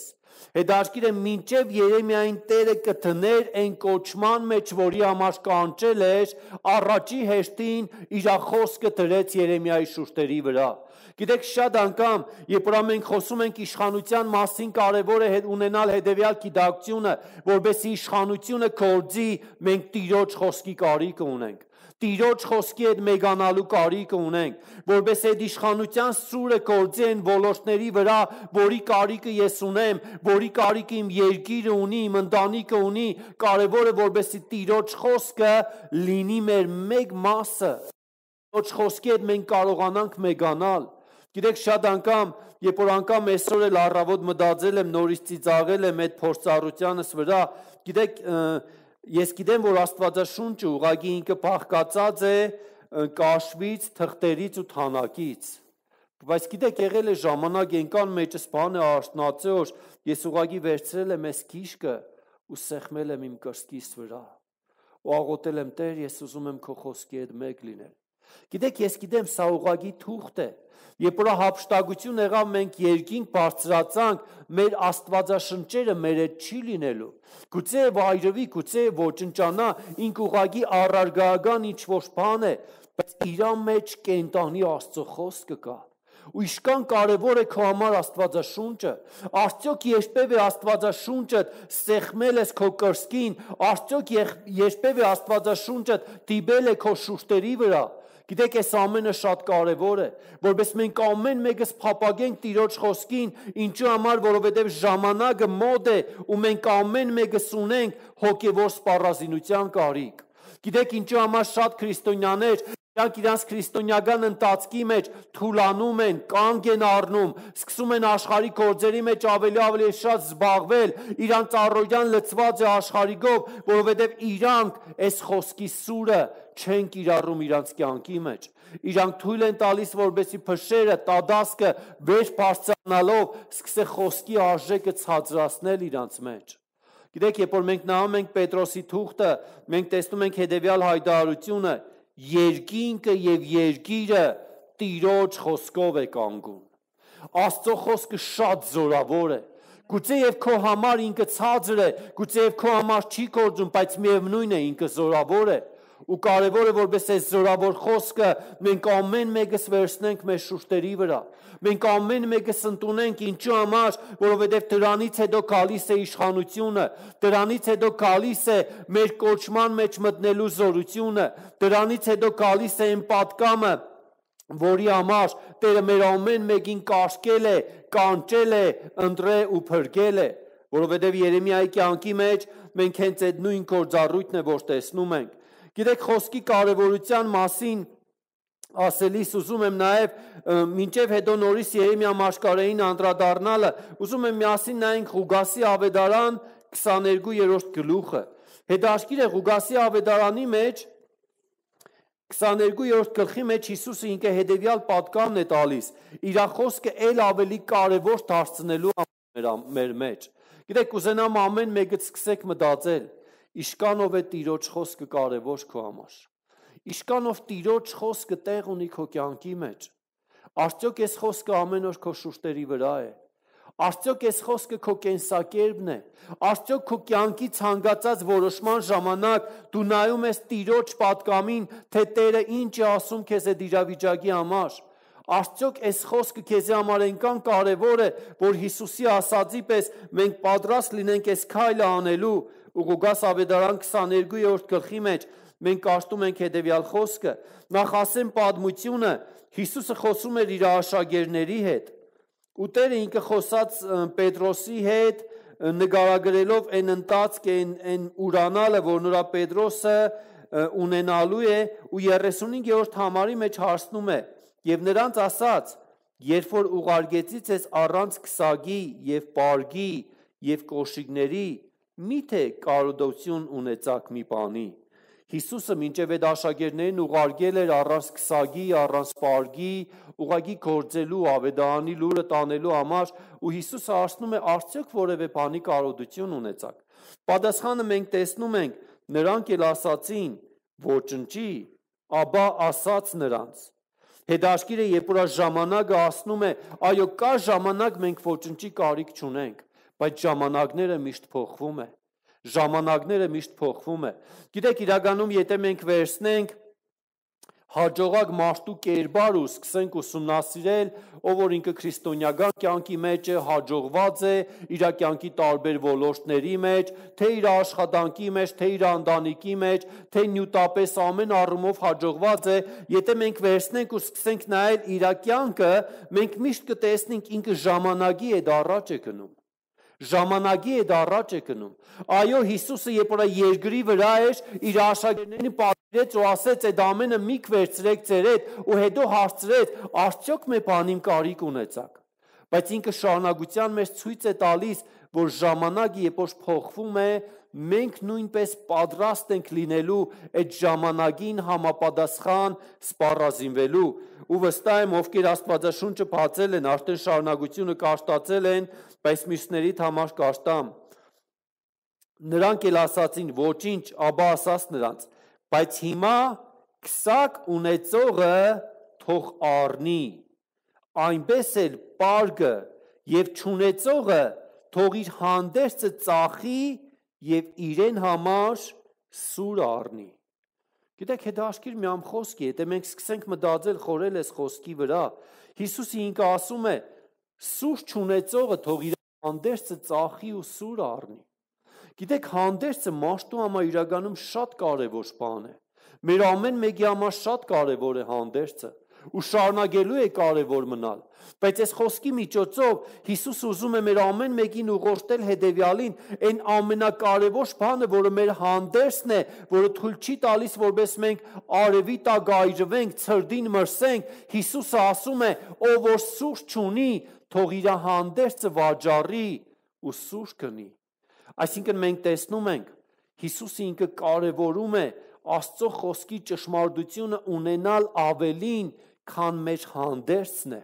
S1: Հետաքրքիր է մինչև Երեմիային Տերը կդներ այն կոչման մեջ, որի համար կանչել էր, առաջի հերթին իր խոսքը դրեց Երեմիայի շուրթերի վրա։ Գիտեք, շատ անգամ, երբ որ մենք խոսում ենք իշխանության մասին, կարևոր է ունենալ հետևյալ գիտակցությունը, որովհետեւ իշխանությունը կորձի, մենք Տիրոջ խոսքի կարիք ունենք։ Տիրոջ խոսքի հետ մեգանալու կարիք ունենք, որպես այդ իշխանության սուրը կորձի են ոլորտների վրա, որի կարիքը ես ունեմ, որի կարիքը իմ երկիրը ունի, իմ ընտանիքը ունի, կարևորը որպեսզի Տիրոջ խոսքը լինի մեր մեկ մասը, Տիրոջ խոսքի հետ մենք կարողանանք մեգանալ։ Գիտեք, շատ անգամ, երբ որ անգամ այսօր էլ առավոտ մտածել եմ, նորից ծիծաղել եմ այդ փորձառությանս վրա, գիտեք, ես գիտեմ, որ Աստվածաշունչը ուղղակի ինքը փախկացած է կաշվից, թղթերից ու թանակից։ Բայց գիտեք, եղել է ժամանակ ենկան մեջս բան է արթնացել, որ ես ուղղակի վերցրել եմ այս քիշկը ու սեղմել եմ իմ կրծքիս վրա։ Ու աղոթել եմ, Տեր, ես ուզում եմ քո խոսքի հետ մեկ լինել։ Գիտեք, ես գիտեմ, սա ուղղակի թուղթ է։ Երբ որ հափշտակություն եղավ, մենք երկինք բարձրացանք, մեր Աստվածաշնչերը մեր հետ չի լինելու։ Գուցե վայրվի, գուցե ոչնչանա, ինք ուղղակի առարգական ինչ-որ բան է, բայց իր մեջ կենտանի Աստծո խոսքը կա։ Ու իշքան կարևոր է քո համար Աստվածաշունչը։ Արդյոք երբևէ Աստվածաշունչը սեղմել ես քո կրծքին, արդյոք երբևէ Աստվածաշունչը դիպել է քո շուրթերի վրա։ Գիտեք, այս ամենը շատ կարևոր է, որովհետեւ մենք ամեն մեկս փափագենք Տիրոջ խոսքին, ինչու համար, որովհետեւ ժամանակը մոտ է ու մենք ամեն մեկս ունենք հոգևոր սպառազինության կարիք։ Գիտեք, ինչու համար շատ քրիստոնյաներ Իրանք իրանց քրիստոնեական ընթացքի մեջ թուլանում են, կանգ են առնում, սկսում են աշխարհի գործերի մեջ ավելի ավելի շատ զբաղվել, իրանց առօրյան լցված է աշխարհիկով, որովհետև իրանք այս խոսքի սուրը չեն կիրառում իրանց կյանքի մեջ։ Իրանք թույլ են տալիս, որպեսզի փշերը, տադասկը վեր բարձրանալով սկսե խոսքի արժեքը ցածրացնել իրանց մեջ։ Գիտեք, երբ որ մենք նայում ենք Պետրոսի թուղթը, մենք տեսնում ենք հետևյալ հայտարարությունը. երկինքը եւ երկիրը Տիրոջ խոսքով է կանգուն։ Աստծո խոսքը շատ զորավոր է։ Գուցե եւ քո համար ինքը ցածր է, գուցե եւ քո համար չի կործում, բայց միևնույն է ինքը զորավոր է։ Ու կարևորը որպես այս զորավոր խոսքը մենք ամեն մեկս վերցնենք մեր շուրթերի վրա։ Մենք ամեն մեկս ընդունենք ինչու համար, որովհետև դրանից հետո գալիս է իշխանությունը, դրանից հետո գալիս է մեր կոչման մեջ մտնելու զորությունը, դրանից հետո գալիս է այն պատկամը, որի համար Տերը մեր ամեն մեկին կարգել է, կանչել է, ընտրել ու փրկել է, որովհետև Երեմիայի կյանքի մեջ մենք հենց այդ նույն գործառույթն է, որ տեսնում ենք։ Գիտեք, խոսքի կարևորության մասին ասելիս ուզում եմ նաև մինչև հետո նորից Երեմիա մաշկարեին անդրադառնալը, ուզում եմ միասին նայենք Ղուգասի ավետարան քսաներկու-րդ գլուխը։ Հետաքրքիր է Ղուգասի ավետարանի մեջ քսաներկու-րդ գլխի մեջ Հիսուսը ինքը հետևյալ պատկանն է տալիս, իր խոսքը ել ավելի կարևոր դարձնելու մեր մեջ։ Գիտեք, կուզենամ ամեն մեկը սկսեք մտածել, Իշկանով է Տիրոջ խոսքը կարևոր քո համար։ Իշկանով Տիրոջ խոսքը տեղ ունի քո կյանքի մեջ։ Արդյոք այս խոսքը ամեն օր քո շուրթերի վրա է։ Արդյոք այս խոսքը քո կենսակերպն է։ Արդյոք քո կյանքի ցանկացած որոշման ժամանակ դու նայում ես Տիրոջ պատկամին, թե Տերը ինչ է ասում քեզ այդ իրավիճակի համար։ Արդյոք այս խոսքը քեզի համար այնքան կարևոր է, որ Հիսուսի ասածի պես մենք պատրաստ լինենք այս քայլը անելու։ Ղուգաս ավետարան քսաներկու-րդ գլխի մեջ մենք կարդում ենք հետևյալ խոսքը. նախ ասեմ պատմությունը, Հիսուսը խոսում էր իր աշակերտների հետ։ Ու Տերը ինքը խոսած Պետրոսի հետ, նկարագրելով այն ընթացքը, այն ուրանալը, որ նրա Պետրոսը ունենալու է, ու երեսունհինգերորդ համարի մեջ հարցնում է. եւ նրանց ասաց, երբ որ ուղարկեցի ձեզ առանց քսակի եւ պարգի եւ կոշիկների, միթե կարողություն ունեցաք մի բանի։ Հիսուսը մինչև այդ աշակերտներին ուղարկել էր առանց քսակի, առանց պարգի, ուղղակի գործելու, ավետարանի լուրը տանելու համար, ու Հիսուսը հարցնում է, արդյոք որևէ բանի կարողություն ունեցաք։ Պատասխանը մենք տեսնում ենք, նրանք էլ ասացին, ոչնչի, ապա ասաց նրանց։ Հետաքրքիր է, երբ որ ժամանակը ասնում է, այո, կա ժամանակ մենք ոչնչի կարիք չունենք, բայց ժամանակները միշտ փոխվում է։ Ժամանակները միշտ փոխվում է։ Գիտեք, իրականում եթե մենք վերցնենք հաջողակ մարդու կերպար ու սկսենք ուսումնասիրել, ով որ ինքը քրիստոնեական կյանքի մեջ է, հաջողված է, իր կյանքի տարբեր ոլորտների մեջ, թե իր աշխատանքի մեջ, թե իր ընտանիքի մեջ, թե նյութապես ամեն առումով հաջողված է, եթե մենք վերցնենք ու սկսենք նայել իր կյանքը, մենք միշտ կտեսնենք ինքը ժամանակի հետ առաջ է գնում։ Ժամանակի հետ առաջ է գնում։ Այո, Հիսուսը երբ որ երկրի վրա էր, իր աշակերտներին պատվիրեց ու ասեց, այդ ամենը մի վերցրեք ձեր հետ ու հետո հարցրեց, արդյոք մի բանին կարիք ունեցաք։ Բայց ինքը շարունակության մեջ ցույց է տալիս, որ ժամանակը երբ որ փոխվում է, մենք նույնպես պատրաստ ենք լինելու այդ ժամանակին համապատասխան սպառազինվելու։ Ու վստահ եմ, ովքեր Աստվածաշունչը բացել են, արդեն շարունակությունը կաշտացել են, բայց մյուսներից համար կաշտամ։ Նրանք էլ ասացին, ոչինչ, Աբա ասաց նրանց, բայց հիմա քսակ ունեցողը թող առնի, այնպես էլ պարգը եւ չունեցողը թող իր հանդերձը ծախի եւ իրեն համար սուր առնի։ Գիտեք, հետաքրքիր մի ամ խոսք է, եթե մենք սկսենք մտածել խորել այս խոսքի վրա, Հիսուսը ինքը ասում է, սուր չունեցողը թող իր հանդերձը ծախի ու սուր առնի։ Գիտեք, հանդերձը մարդու համար իրականում շատ կարևոր բան է։ Մեր ամեն մեկի համար շատ կարևոր է հանդերձը ու շարունակելու է կարևոր մնալ։ Բայց այս խոսքի միջոցով Հիսուսը ուզում է մեր ամեն մեկին ուղղորդել հետևյալին, այն ամենակարևոր բանը, որը մեր հանդերձն է, որը թույլ չի տալիս, որպես մենք արևի տակ այրվենք, ցրդին մրսենք, Հիսուսը ասում է, ով որ սուր չունի, թող իր հանդերձը վաճառի ու սուր գնի։ Այսինքն մենք տեսնում ենք, Հիսուսը ինքը կարևորում է Աստծո խոսքի ճշմարտությունը ունենալ ավելին, քան մեր հանդերձն է։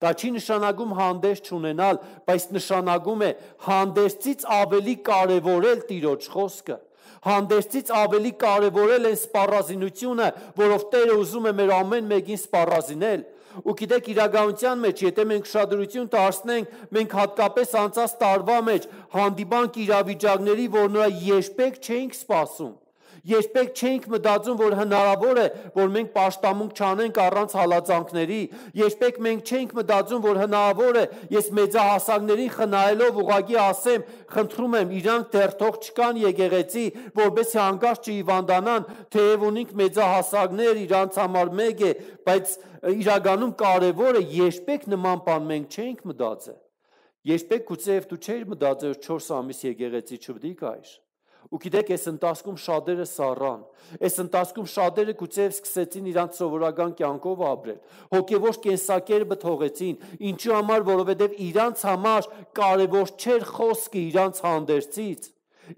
S1: Դա չի նշանակում հանդերձ չունենալ, բայց նշանակում է հանդերձից ավելի կարևորել Տիրոջ խոսքը։ Հանդերձից ավելի կարևորել է սպառազինությունը, որով Տերը ուզում է մեր ամեն մեկին սպառազինել։ Ու գիտեք, իրականության մեջ, եթե մենք ուշադրություն դարձնենք, մենք հատկապես անցած տարվա մեջ հանդիպանք իրավիճակների, որ նրա երբեք չէինք սպասում։ Երբեք չէինք մտածում, որ հնարավոր է, որ մենք պաշտամունք չանենք առանց հալածանքների։ Երբեք մենք չէինք մտածում, որ հնարավոր է, ես մեծահասակներին խնայելով ուղղակի ասեմ, խնդրում եմ, իրանք դեռ թող չկան եկեղեցի, որովհետեւ հանկարծ չհիվանդանան, թեև ունենք մեծահասակներ, իրանց համար մեկ է, բայց իրականում կարևորը երբեք նման բան մենք չէինք մտածել։ Երբեք գուցեև դու չէիր մտածել, որ չորս ամիս եկեղեցի չպետք է գայր։ Ու գիտեք, այս ընթացքում շատերը սառան, այս ընթացքում շատերը գուցեև սկսեցին իրանց սովորական կյանքով ապրել, հոգևոր կենսակերպը թողեցին, ինչու համար, որովհետև իրանց համար կարևոր չէր խոսքը իրանց հանդերձից։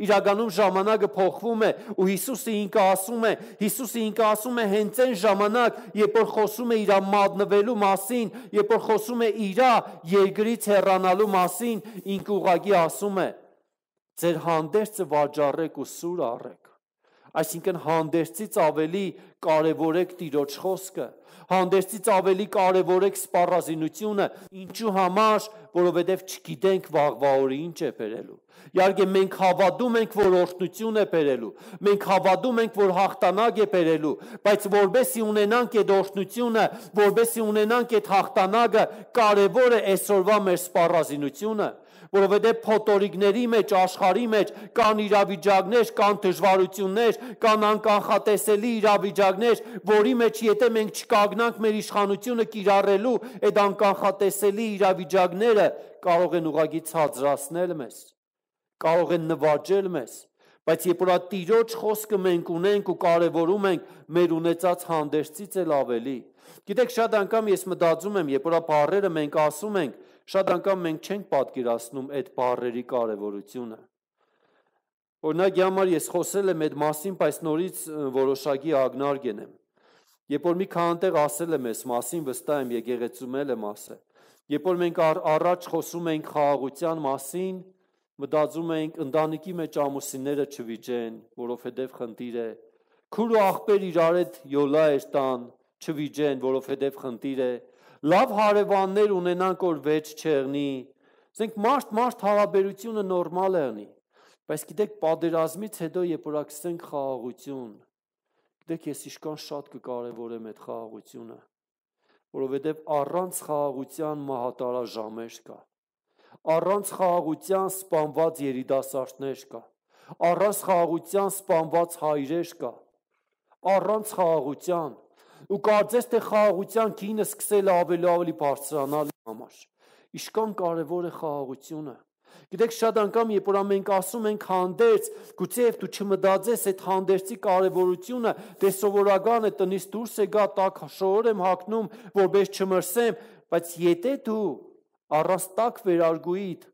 S1: Իրականում ժամանակը փոխվում է ու Հիսուսը ինքը ասում է, Հիսուսը ինքը ասում է հենց այն ժամանակ, երբ որ խոսում է իր մատնվելու մասին, երբ որ խոսում է իր երկրից հեռանալու մասին, ինքը ուղղակի ասում է. Ձեր հանդերձը վաճառեք ու սուր առեք։ Այսինքն հանդերձից ավելի կարևորեք Տիրոջ խոսքը, հանդերձից ավելի կարևորեք սպառազինությունը, ինչու համար, որովհետև չգիտենք վաղվա օրը ինչ է բերելու։ Իհարկե մենք հավատում ենք, որ օրհնություն է բերելու, մենք հավատում ենք, որ հաղթանակ է բերելու, բայց որբեսի ունենանք այդ օրհնությունը, որբեսի ունենանք այդ հաղթանակը, կարևոր է այսօրվա մեր սպառազինությունը, որովհետև փոթորիկների մեջ, աշխարհի մեջ կան իրավիճակներ, կան դժվարություններ, կան անկանխատեսելի իրավիճակներ, որի մեջ եթե մենք չկանգնանք մեր իշխանությունը կիրառելու, այդ անկանխատեսելի իրավիճակները կարող են ուղղակի ցածրացնել մեզ, կարող են նվաճել մեզ, բայց երբ որ Տիրոջ խոսքը մենք ունենք ու կարևորում ենք, մեր ունեցած հանդերձից էլ ավելի։ Գիտեք, շատ անգամ ես մտածում եմ, երբ որ բառերը մենք ասում ենք, շատ անգամ մենք չենք պատկերացնում այդ բառերի կարևորությունը։ Օրինակ, համար ես խոսել եմ այդ մասին, բայց նորից որոշակի ակնարկ եմ։ Երբ որ մի քանի տեղ ասել եմ այս մասին, վստահ եմ եկեղեցում եմ ասել։ Երբ որ մենք առաջ խոսում ենք խաղաղության մասին, մտածում ենք ընտանիքի մեջ ամուսինները չվիճեն, որովհետև խնդիր է։ Քուր ու աղբեր իրար հետ յոլա էր տան, չվիճեն, որովհետև խնդիր է։ Լավ հարևաններ ունենանք, որ վեճ չեղնի, Ասենք մարդ-մարդ հարաբերությունը նորմալ է անի, բայց գիտեք պատերազմից հետո երբ որ ակսենք խաղաղություն, գիտեք ես իշքան շատ կկարևորեմ այդ խաղաղությունը, որովհետև առանց խաղաղության մահատարաժամեր կա, առանց խաղաղության սպանված երիտասարդներ կա, առանց խաղաղության սպանված հայրեր կա, առանց խաղաղության, ու կարծես թե խաղաղության գինը սկսել ավելի ավելի բարձրանալ համար, իշքան կարևոր է խաղաղությունը, գիտեք շատ անգամ երբ որ մենք ասում ենք հանդերձ, գուցեև դու չմտածես այդ հանդերձի կարևորությունը, դե սովորական է տնից դուրս է գա տաք շորեր եմ հագնում, որպես չմրսեմ, բայց եթե դու առանց տաք վերարգուիդ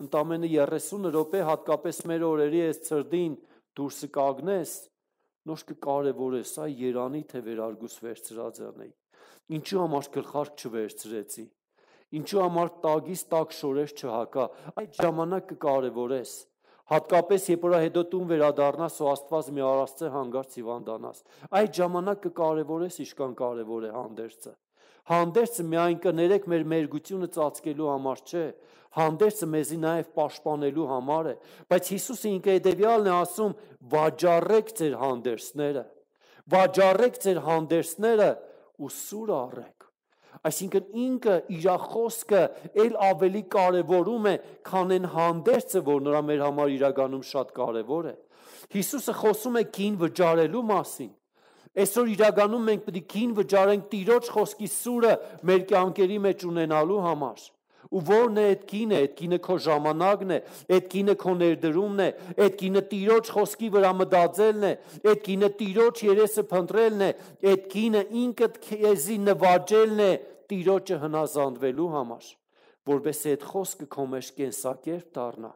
S1: ընդամենը երեսուն րոպե հատկապես մեր օրերի այս ցրդին դուրս կագնես, նոր կկարևորես, այ Երանի թե վերարգուս վերցրած անեի, ինչու համար գլխարկ չվերցրեցի, ինչու համար տագից տակ շորեր չհակա, այդ ժամանակ կկարևորես, հատկապես երբ որ հետո տուն վերադառնաս ու Աստված մի արածը հանգարց հիվանդանաս, այդ ժամանակ կկարևորես իշքան կարևոր է հանդերձը, հանդերձը միայն կներեք մեր մերգությունը ծածկելու համար չէ, հանդերձը մեզի նաև պաշտպանելու համար է, բայց Հիսուսը ինքը հետևյալն է ասում, վաճառեք ձեր հանդերձները, վաճառեք ձեր հանդերձները ու սուր առեք, այսինքն ինքը իր խոսքը էլ ավելի կարևորում է, քան այն հանդերձը, որ նրա մեր համար իրականում շատ կարևոր է, Հիսուսը խոսում է գին վճարելու մասին, այսօր իրականում մենք պետք է գին վճարենք Տիրոջ խոսքի սուրը մեր կյանքերի մեջ ունենալու համար, ու որն է այդ գինը, այդ գինը քո ժամանակն է, այդ գինը քո ներդրումն է, այդ գինը Տիրոջ խոսքի վրա մտածելն է, այդ գինը Տիրոջ երեսը փնտրելն է, այդ գինը ինքդ քեզի նվաճելն է Տիրոջը հնազանդվելու համար, որովհետեւ այդ խոսքը քո մեջ կենսակերպ դառնա,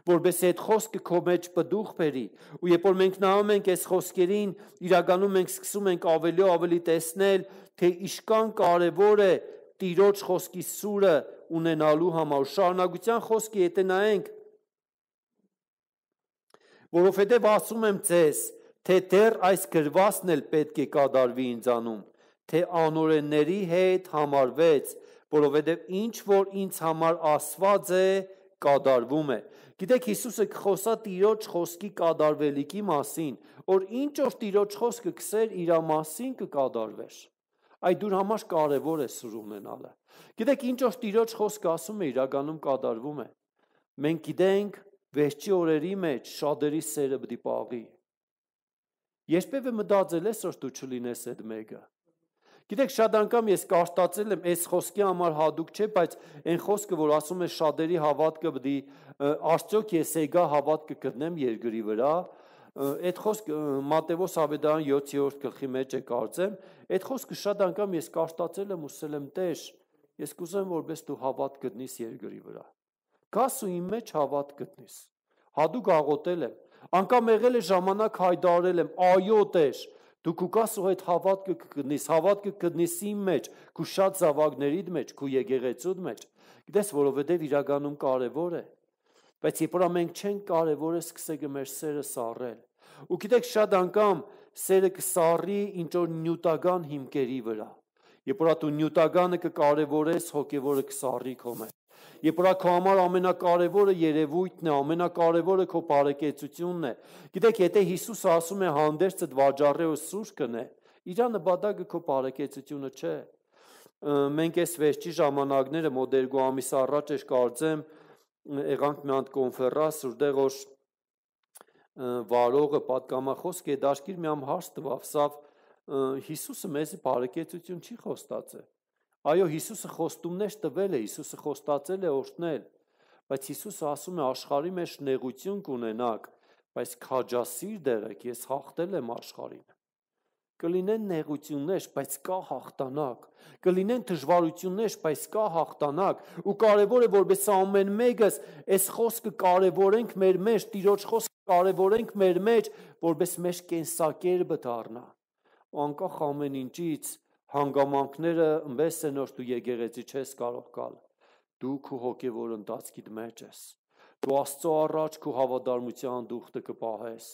S1: որովհետեւ այդ խոսքը քո մեջ պտուղ բերի, ու երբ որ մենք նայում ենք այս խոսքերին, իրականում մենք սկսում ենք ավելի ու ավելի տեսնել, թե իշքան կարևոր է Տիրոջ խոսքի սուրը ունենալու համար, շարունակության խոսքի եթե նայենք, որովհետև ասում եմ ձեզ, թե դեռ այս գրվածն էլ պետք է կատարվի ինձանում, թե անօրենների հետ համարվեց, որովհետև ինչ որ ինձ համար ասված է, կատարվում է, գիտեք Հիսուսը կխոսա Տիրոջ խոսքի կատարվելիքի մասին, որ ինչ որ Տիրոջ խոսքը կսեր իր մասին կկատարվեր, այդ դուր համար կարևոր է սուր ունենալը, գիտեք ինչ որ Տիրոջ խոսքը ասում է իրականում կատարվում է, մենք գիտենք վերջի օրերի մեջ շատերի սերը պիտի պաղի, երբևէ մտածել ես որ դու չլինես այդ մեկը, գիտեք շատ անգամ ես կարդացել եմ այս խոսքի համար հատուկ չէ, բայց այն խոսքը որ ասում է շատերի հավատքը պիտի արդյոք ես եկա հավատքը գտնեմ երկրի վրա, այդ խոսքը Մատթեոս ավետարան յոթերորդ գլխի մեջ է կարծեմ, այդ խոսքը շատ անգամ ես կարդացել եմ ու ասել եմ Տեր, ես կուզեմ որպես դու հավատ գտնես երկրի վրա, գաս ու իմ մեջ հավատ գտնես, հատուկ աղոթել եմ, անգամ եղել է ժամանակ հայտարարել եմ, այո Տեր, դու կուկաս ու այդ հավատքը կգտնես, հավատքը կգտնես իմ մեջ, քու շատ զավակներիդ մեջ, քու եկեղեցուդ մեջ, գիտես որովհետև իրականում կարևոր է, բայց երբ որ մենք չենք կարևորը սկսեք մեր սերը սառել, ու գիտեք շատ անգամ սերը կսառի ինչ որ նյութական հիմքերի վրա, երբ որ դու նյութականը կկարևորես, հոգևորը կսառի քո մեջ, երբ որ քո համար ամենակարևորը երևույթն է, ամենակարևորը քո բարեկեցությունն է, գիտեք եթե Հիսուսը ասում է հանդերձդ վաճառե ու սուր կնե, իր նպատակը քո բարեկեցությունը չէ, մենք այս վերջի ժամանակները մոտ երկու ամիս առաջ էր կարծեմ, եղանք մի հատ կոնֆերանս, որտեղ որ վարողը պատգամախոսք է դաշկիր մի ամ հարց տվավ, սավ Հիսուսը մեզի բարեկեցություն չի խոստացել, այո Հիսուսը խոստումներ տվել է, Հիսուսը խոստացել է օրհնել, բայց Հիսուսը ասում է աշխարհի մեջ նեղություն կունենաք, բայց քաջասիրտ եղեք, ես հաղթել եմ աշխարհին, կլինեն նեղություններ, բայց կա հաղթանակ, կլինեն դժվարություններ, բայց կա հաղթանակ, ու կարևոր է որպես ամեն մեկս այս խոսքը կարևորենք մեր մեջ, Տիրոջ խոսքը կարևորենք մեր մեջ, որպես մեր կենսակերպը դառնա, ու անկախ ամեն ինչից հանգամանքները ըմբես են որ դու եկեղեցի չես կարող գալ, դու քո հոգևոր ընթացքիդ մեջ ես, Դու Աստծո առաջ քո հավատարմության դուխտը կպահես,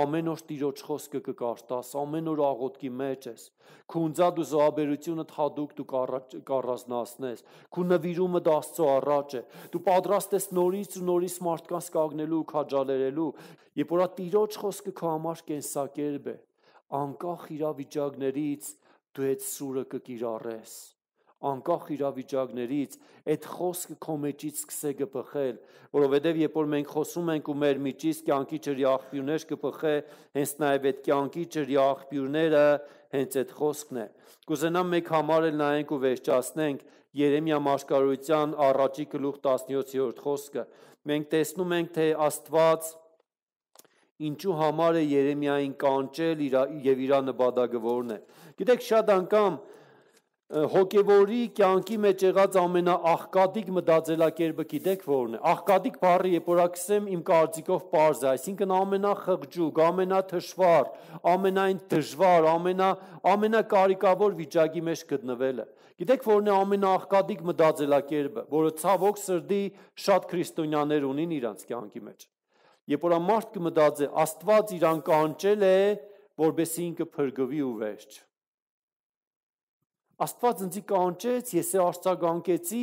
S1: ամեն օր Տիրոջ խոսքը կկարտաս, ամեն օր աղոթքի մեջ ես, քո ունձած ու զոհաբերությունը հատուկ դու կառանձնացնես, քո նվիրումը դա Աստծո առաջ է, դու պատրաստ ես նորից ու նորից մարդկանց կանգնելու ու քաջալերելու, երբ որ Տիրոջ խոսքը քո համար կենսակերպ է, անկախ իրավիճակներից դու այդ սուրը կկիրառես, անկախ իրավիճակներից այդ խոսքը քո մեջից սկսե կփխել, որովհետև երբ որ մենք խոսում ենք ու մեր միջից կյանքի ջրի աղբյուրներ կփխե, հենց նաև այդ կյանքի ջրի աղբյուրները հենց այդ խոսքն է։ Կուզենամ մեկ համար էլ նայենք ու վերջացնենք Երեմիա մարգարոյության առաջի գլուխ տասնյոթերորդ խոսքը։ Մենք տեսնում ենք, թե Աստված ինչու համար է Երեմիային կանչել եւ իր նպատակը որն է։ Գիտեք, շատ անգամ հոգևորի կյանքի մեջ եղած ամենաաղկատիկ մտածելակերպը գիտեք որն է։ Աղկատիկ բառը երբ որ ասեմ իմ կարծիքով պարզ է, այսինքն ամենախղճուկ, ամենաթշվառ, ամենայն դժվար, ամենա ամենակարիքավոր վիճակի մեջ գտնվելը։ Գիտեք որն է ամենաաղկատիկ մտածելակերպը, որը ցավոք սրտի շատ քրիստոնյաներ ունին իրանց կյանքի մեջ։ Երբ որ մարդ կմտածի, Աստված իրան կանչել է, որովհետեւ ինքը փրկվի ու վերջ։ Աստված ինձ կանչեց, ես արձագանքեցի,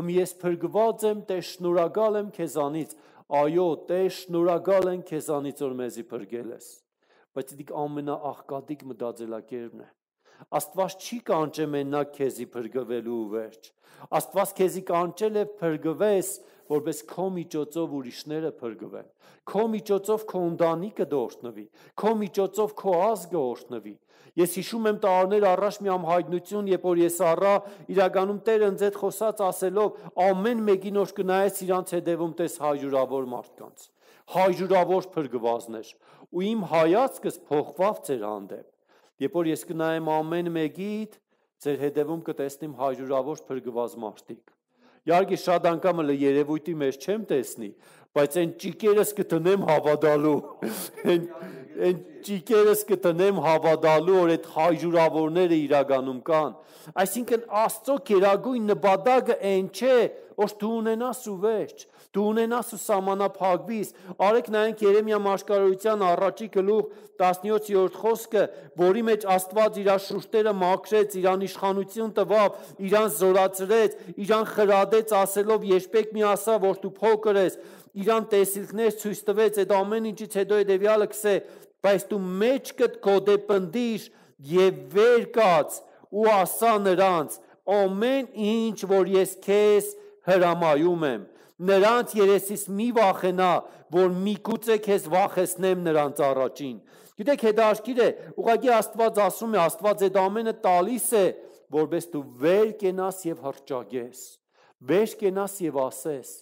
S1: հմ ես փրկված եմ, Տեր շնորհակալ եմ քեզանից։ Այո, Տեր շնորհակալ եմ քեզանից, որ մեզի փրկել ես։ Բայց դա ամենաաղկատիկ մտածելակերպն է։ Աստված չի կանչե մենակ քեզի փրկվելու ու վերջ։ Աստված քեզի կանչել է փրկվես, որպես քո միջոցով ուրիշները փրկվեն։ Քո միջոցով քո ընտանիքը դորտնվի, քո միջոցով քո ազգը օրհնվի։ Ես հիշում եմ տարիներ առաջ մի ամհայտնություն, երբ որ ես առա իրականում Տերը ինձ հետ խոսած ասելով ամեն մեկին որ կնայես իրանց հետևում տես հարյուրավոր մարդկանց, հարյուրավոր փրկվածներ, ու իմ հայացքս փոխվավ ձեր հանդեպ։ Երբ որ ես կնայեմ ամեն մեկիդ, ձեր հետևում կտեսնեմ հարյուրավոր փրկված մարդիկ։ Իհարկե շատ անգամ էլ երևույթի մեջ չեմ տեսնի, բայց այն ճիկերս կտնեմ հավատալու, այն ճիկերս կտնեմ հավատալու, որ այդ հարյուրավորները իրականում կան։ Այսինքն Աստծո գերագույն նպատակը այն չէ, որ դու ունենաս ու վերջ, դու ունենաս ու սահմանափակվիս։ Արեք նայենք Երեմիա մարգարոյության առաջի գլուխ տասնյոթերորդ խոսքը, որի մեջ Աստված իր շուրթերը մաքրեց, իրան իշխանություն տվավ, իրան զորացրեց, իրան խրատեց ասելով երբեք մի ասա, որ դու փոքր ես, իրան տեսիլքներ ցույց տվեց, այդ ամեն ինչից հետո հետևյալը կսե, բայց դու մեջքդ կոդեպնդիր եւ վեր կաց ու ասա նրանց ամեն ինչ, որ ես քեզ հրամայում եմ, նրանց երեսից մի վախենա, որ միգուցե քեզ վախեցնեմ նրանց առաջին։ Գիտեք, հետաքրքիր է, ուղղակի Աստված ասում է, Աստված այդ ամենը տալիս է, որպես դու վեր կենաս եւ հռչակես, վեր կենաս եւ ասես։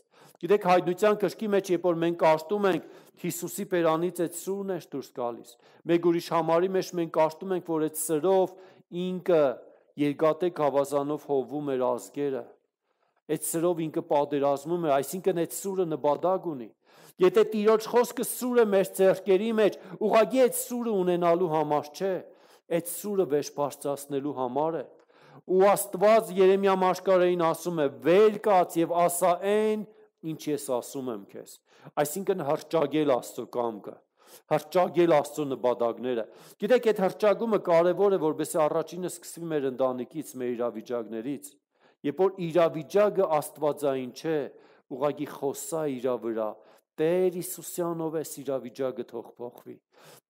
S1: Գիտեք, հայտնության կրկի մեջ, երբ որ մենք կարդում ենք Հիսուսի բերանից այդ սուրն է դուրս գալիս, մեկ ուրիշ համարի մեջ մենք կարդում ենք, որ այդ սրով ինքը երկատե գավազանով հովվում էր ազգերը, այդ սրով ինքը պատերազմում է, այսինքն այդ սուրը նպատակ ունի։ Եթե Տիրոջ խոսքը սուրը մեր ձեռքերի մեջ, ուղղակի այդ սուրը ունենալու համար չէ, այդ սուրը վերջբարձրացնելու համար է։ Ու Աստված Երեմիա մարգարեին ասում է. «Վեր կաց եւ ասա այն, ինչ ես ասում եմ քեզ»։ Այսինքն հռչակել Աստծո կամքը, հռչակել Աստծո նպատակները։ Գիտեք, այդ հռչակումը կարևոր է, որովհետեւ առաջինը սկսվի մեր ընտանիքից, մեր իրավիճակներից։ Երբ որ իրավիճակը աստվածային չէ, ուղղակի խոսա իրա վրա, Տեր Հիսուսյանով էս իրավիճակը թող փոխվի։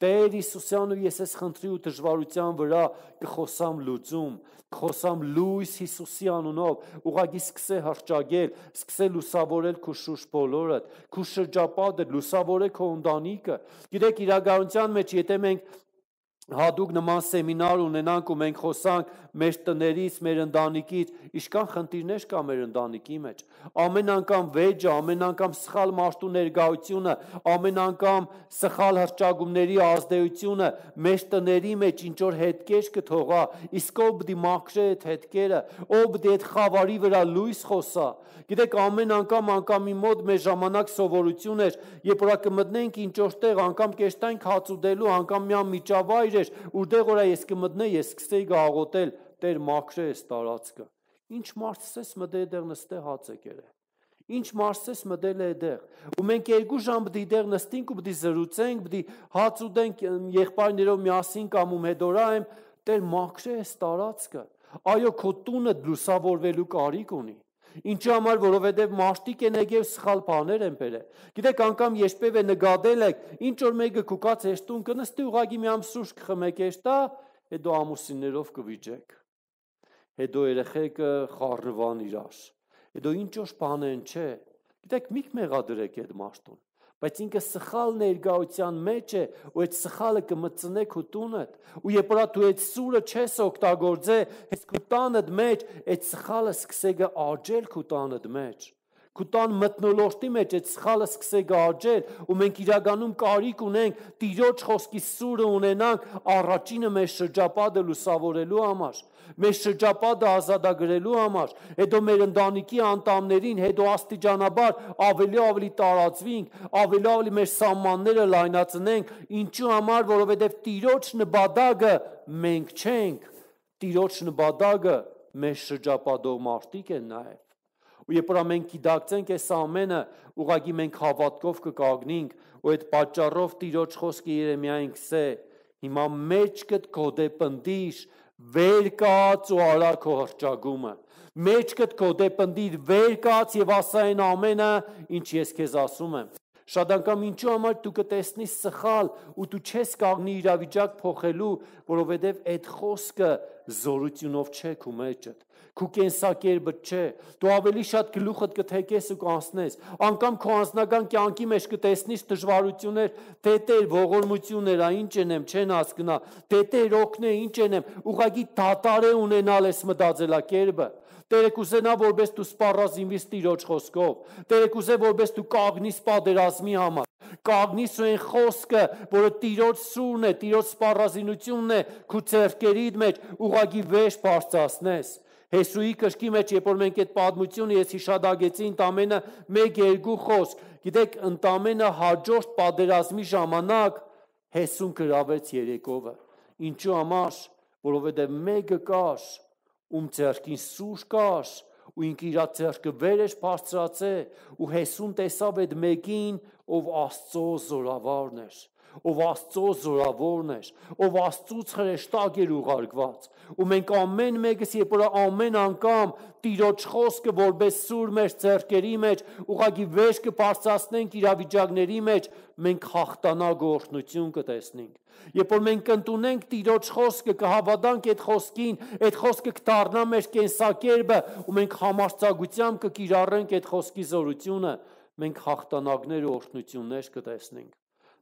S1: Տեր Հիսուսյանով ես ես խնդրի ու դժվարության վրա կխոսամ լուծում, կխոսամ լույս Հիսուսի անունով, ուղղակի սկսե հռչակել, սկսե լուսավորել քո շուրջ բոլորը, քո շրջապատը, լուսավորե քո ընտանիքը։ Գիտեք, իրականության մեջ եթե մենք հատուկ նման սեմինար ունենանք ու մենք խոսանք մեր տներից, մեր ընտանիքից, ինչքան խնդիրներ կա մեր ընտանիքի մեջ։ Ամեն անգամ վեճը, ամեն անգամ սխալ մարդու ներկայությունը, ամեն անգամ սխալ հռչակումների ազդեցությունը մեր տների մեջ ինչ որ հետքեր կթողա, իսկ ով պիտի մաքրե այդ հետքերը, ով պիտի այդ խավարի վրա լույս խոսա։ Գիտեք, ամեն անգամ անգամի մոտ մեր ժամանակ սովորություն էր, երբ որ կմտնենք ինչ որտեղ, անգամ կեշտանք հաց ուտելու, անգամ մի միջավայր Ուրդեղ որա ես կմտնե, ես սկսեի գաղոտել, Տեր մաքրե ես տարածքը։ Ինչ մարդ սես մտե դեղ նստե հաց է կերե։ Ինչ Մարսես մտել է այդեղ։ Ու մենք երկու ժամ պիտի դեղ նստենք ու պիտի զրուցենք, պիտի հաց ուտենք եղբայրներով միասին կամ ում հետորայեմ, Տեր մաքրե էս տարածքը։ Այո, քո տունը լուսավորվելու կարիք ունի։ Ինչու համար, որովհետև մարդիկ են եկել սխալ բաներ են բերել։ Գիտեք, անգամ երբևէ նկատել եք, ինչ որ մեկը կուկած էս տուն կնստի ուղղակի մի ամ սուրճ կխմեք էստա, հետո ամուսիններով կվիճեք։ Հետո երեխեքը խառնվան իրար։ Հետո ինչ որ բան են, չէ։ Գիտեք, միք մեղադրեք այդ մարդուն, բայց ինքը սխալ ներկայության մեջ է, ու այդ սխալը կմծնե քո տունդ, ու երբ որ դու այդ սուրը չես օգտագործե, հենց քո տանդ մեջ այդ սխալը սկսե գարջել քո տանդ մեջ։ Քո տան մթնոլորտի մեջ այդ սխալը սկսե գարջել, ու մենք իրականում կարիք ունենք Տիրոջ խոսքի սուրը ունենանք առաջինը մեր շրջապատը լուսավորելու համար, մեր շրջապատը ազատագրելու համար, հետո մեր ընտանիքի անդամներին, հետո աստիճանաբար ավելի ավելի տարածվենք, ավելի ավելի մեր սահմանները լայնացնենք, ինչու համար, որովհետև Տիրոջ նպատակը մենք չենք, Տիրոջ նպատակը մեր շրջապատող մարդիկ են նաև։ Ու երբ որ մենք գիտակցենք այս ամենը, ուղղակի մենք հավատքով կկանգնենք, ու այդ պատճառով Տիրոջ խոսքը Երեմիային գսե, հիմա մեջքդ կոդեպնդիր, վեր կաց ու արա քո հռչակումը, մեջքդ կոդեպնդիր, վեր կաց եւ ասա այն ամենը, ինչ ես քեզ ասում եմ։ Շատ անգամ ինչու համար դու կտեսնես սխալ ու դու չես կանգնի իրավիճակ փոխելու, որովհետև այդ խոսքը զորությունով չէ քո մեջդ, քո կենսակերպը չէ, դու ավելի շատ գլուխդ կթեքես ու կանցնես, անգամ քո անձնական կյանքի մեջ կտեսնես դժվարություններ, թե Տեր ողորմություններ, ինչ ենեմ, չեն հասկնա, թե Տեր օգնե, ինչ ենեմ, ուղղակի դատարե ունենալ ես մտածելակերպը։ Տերը կուզենա, որպես դու սպառազինվես Տիրոջ խոսքով, Տերը կուզե, որպես դու կանգնես պատերազմի համար, կանգնես ու այն խոսքը, որը Տիրոջ սուրն է, Տիրոջ սպառազինությունն է, քո ձեռքերիդ մեջ ուղղակի վեշ բարձրացնես։ Հեսուի կրկի մեջ, երբ որ մենք այդ պատմությունը ես հիշադակեցի ընդամենը մեկ-երկու խոսք, գիտեք, ընդամենը հաջորդ պատերազմի ժամանակ Հեսուն գրավեց Երեկովը։ Ինչու համար, որովհետև մեկը կար, ում ձեռքին սուր կար, ու ինքը իր ձեռքը վեր էր բարձրացե, ու Հեսուն տեսավ այդ մեկին, ով Աստծո զորավարն էր, ով Աստծո զորավորն էր, ով Աստծուց հրեշտակ էր ուղարկված։ Ու մենք ամեն մեկս, երբ որ ամեն անգամ Տիրոջ խոսքը որպես սուր մեր ձեռքերի մեջ, ուղղակի վեր կբարձրացնենք իրավիճակների մեջ, մենք հաղթանակ ու օրհնություն կտեսնենք։ Երբ որ մենք կընդունենք Տիրոջ խոսքը, կհավատանք այդ խոսքին, այդ խոսքը կդառնա մեր կենսակերպը, ու մենք համարձակությամբ կկիրառենք այդ խոսքի զորությունը, մենք հաղթանակներ ու օրհնություններ կտեսնենք։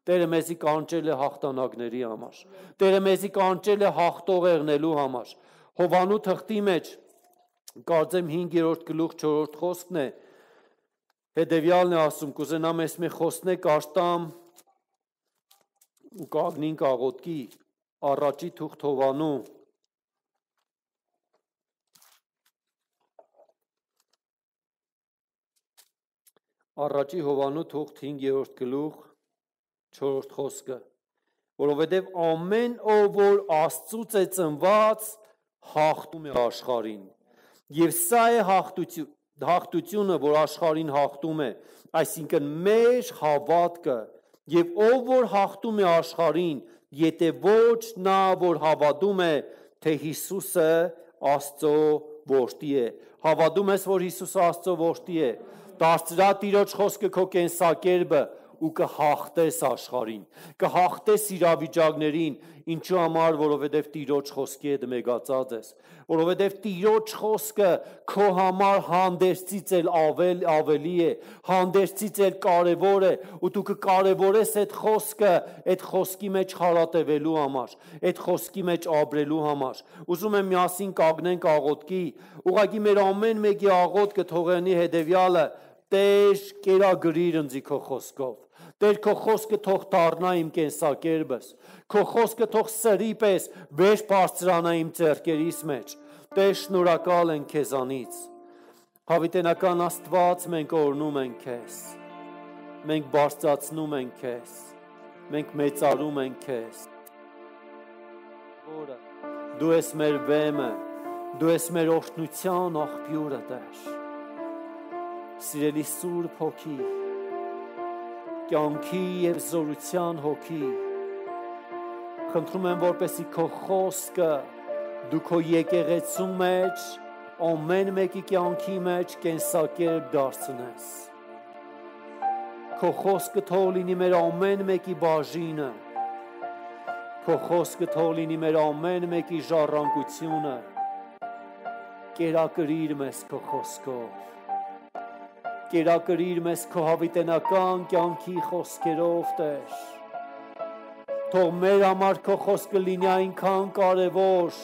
S1: Տերը մեզի կանչել է հաղթանակների համար, Տերը մեզի կանչել է հաղթող եղնելու համար։ Հովանու թղթի մեջ, կարծեմ հինգերորդ գլուխ չորրորդ խոսքն է, հետևյալն է ասում, կուզենամ ես մի խոսնեք աշտամ ու կագնինք աղոտքի, առաջի թուղթ Հովանու, առաջի Հովանու թուղթ հինգերորդ գլուխ չորրորդ խոսքը, որովհետև ամեն ով որ Աստծուց է ծնված, հաղթում է աշխարհին, եւ սա է հաղթություն, հաղթությունը, որ աշխարհին հաղթում է, այսինքն մեր հավատքը, եւ ով որ հաղթում է աշխարհին, եթե ոչ նա, որ հավատում է, թե Հիսուսը Աստծո որդի է։ Հավատում ես, որ Հիսուսը Աստծո որդի է, դարձրա Տիրոջ խոսքը քո կենսակերպը ու կհաղթես աշխարհին, կհաղթես իրավիճակներին, ինչու համար, որովհետև Տիրոջ խոսքի հետ մեծացած ես, որովհետև Տիրոջ խոսքը քո համար հանդերձից էլ ավել ավելի է, հանդերձից էլ կարևոր է, ու դու կկարևորես այդ խոսքը, այդ խոսքի մեջ հարատևելու համար, այդ խոսքի մեջ ապրելու համար։ Ուզում եմ միասին կանգնենք աղոթքի, ուղղակի մեր ամեն մեկի աղոթքը թողնի հետևյալը. Տեր, կերակրիր ինձ քո խոսքով, Տեր, քո խոսքը թող դառնա իմ կենսակերպս, քո խոսքը թող սրի պես վեր բարձրանա իմ ձեռքերիս մեջ։ Տեր, շնորհակալ ենք քեզանից։ Հավիտենական Աստված, մենք օրհնում ենք քեզ, մենք բարձրացնում ենք քեզ, մենք մեծարում ենք քեզ։ Որը դու ես մեր վեմը, դու ես մեր օրհնության աղբյուրը, Տեր։ Սիրելի Սուրբ Հոգի, կյանքի և զորության Հոգի, խնդրում եմ, որպեսզի քո խոսքը դու քո եկեղեցու մեջ, ամեն մեկի կյանքի մեջ կենսակերպ դարձնես։ Քո խոսքը թող լինի մեր ամեն մեկի բաժինը, քո խոսքը թող լինի մեր ամեն մեկի ժառանգությունը, կերակրիր մեզ քո խոսքով, կերակրիր մեզ քո հավիտենական կյանքի խոսքերով, Տեր, թող մեր համար քո խոսքը լինի այնքան կարևոր,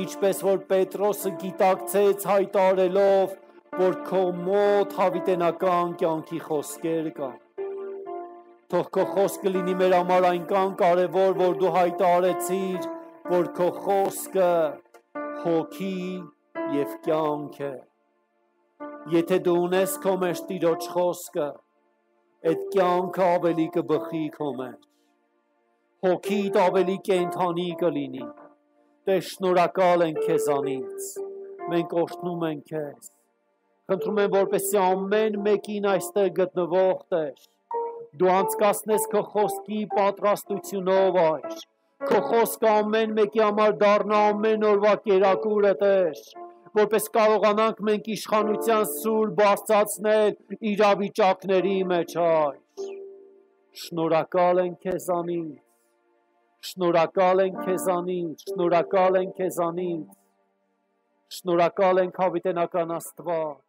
S1: ինչպես որ Պետրոսը գիտակցեց հայտարելով, որ քո մոտ հավիտենական կյանքի խոսքեր կան։ Թող քո խոսքը լինի մեր համար այնքան կարևոր, որ դու հայտարարեցիր, որ քո խոսքը հոգի և կյանք է։ Եթե դու ունես քո մեջ Տիրոջ խոսքը, այդ կյանքը ավելի կբխի քո մեջ, հոգիդ ավելի կենդանի կլինի։ Տեր, շնորհակալ ենք քեզանից, մենք օրհնում ենք քեզ, խնդրում եմ, որպեսզի ամեն մեկին այստեղ գտնվող, Տեր, դու անցկացնես քո խոսքի պատրաստությունով, այր, քո խոսքը ամեն մեկի համար դառնա ամեն օրվա կերակուրը, Տեր, որպես կարողանանք մենք իշխանության սուր բարձրացնել իրավիճակների մեջ, այր, շնորհակալ ենք քեզանից, շնորհակալ ենք քեզանից, շնորհակալ ենք քեզանից, շնորհակալ ենք հավիտենական Աստված,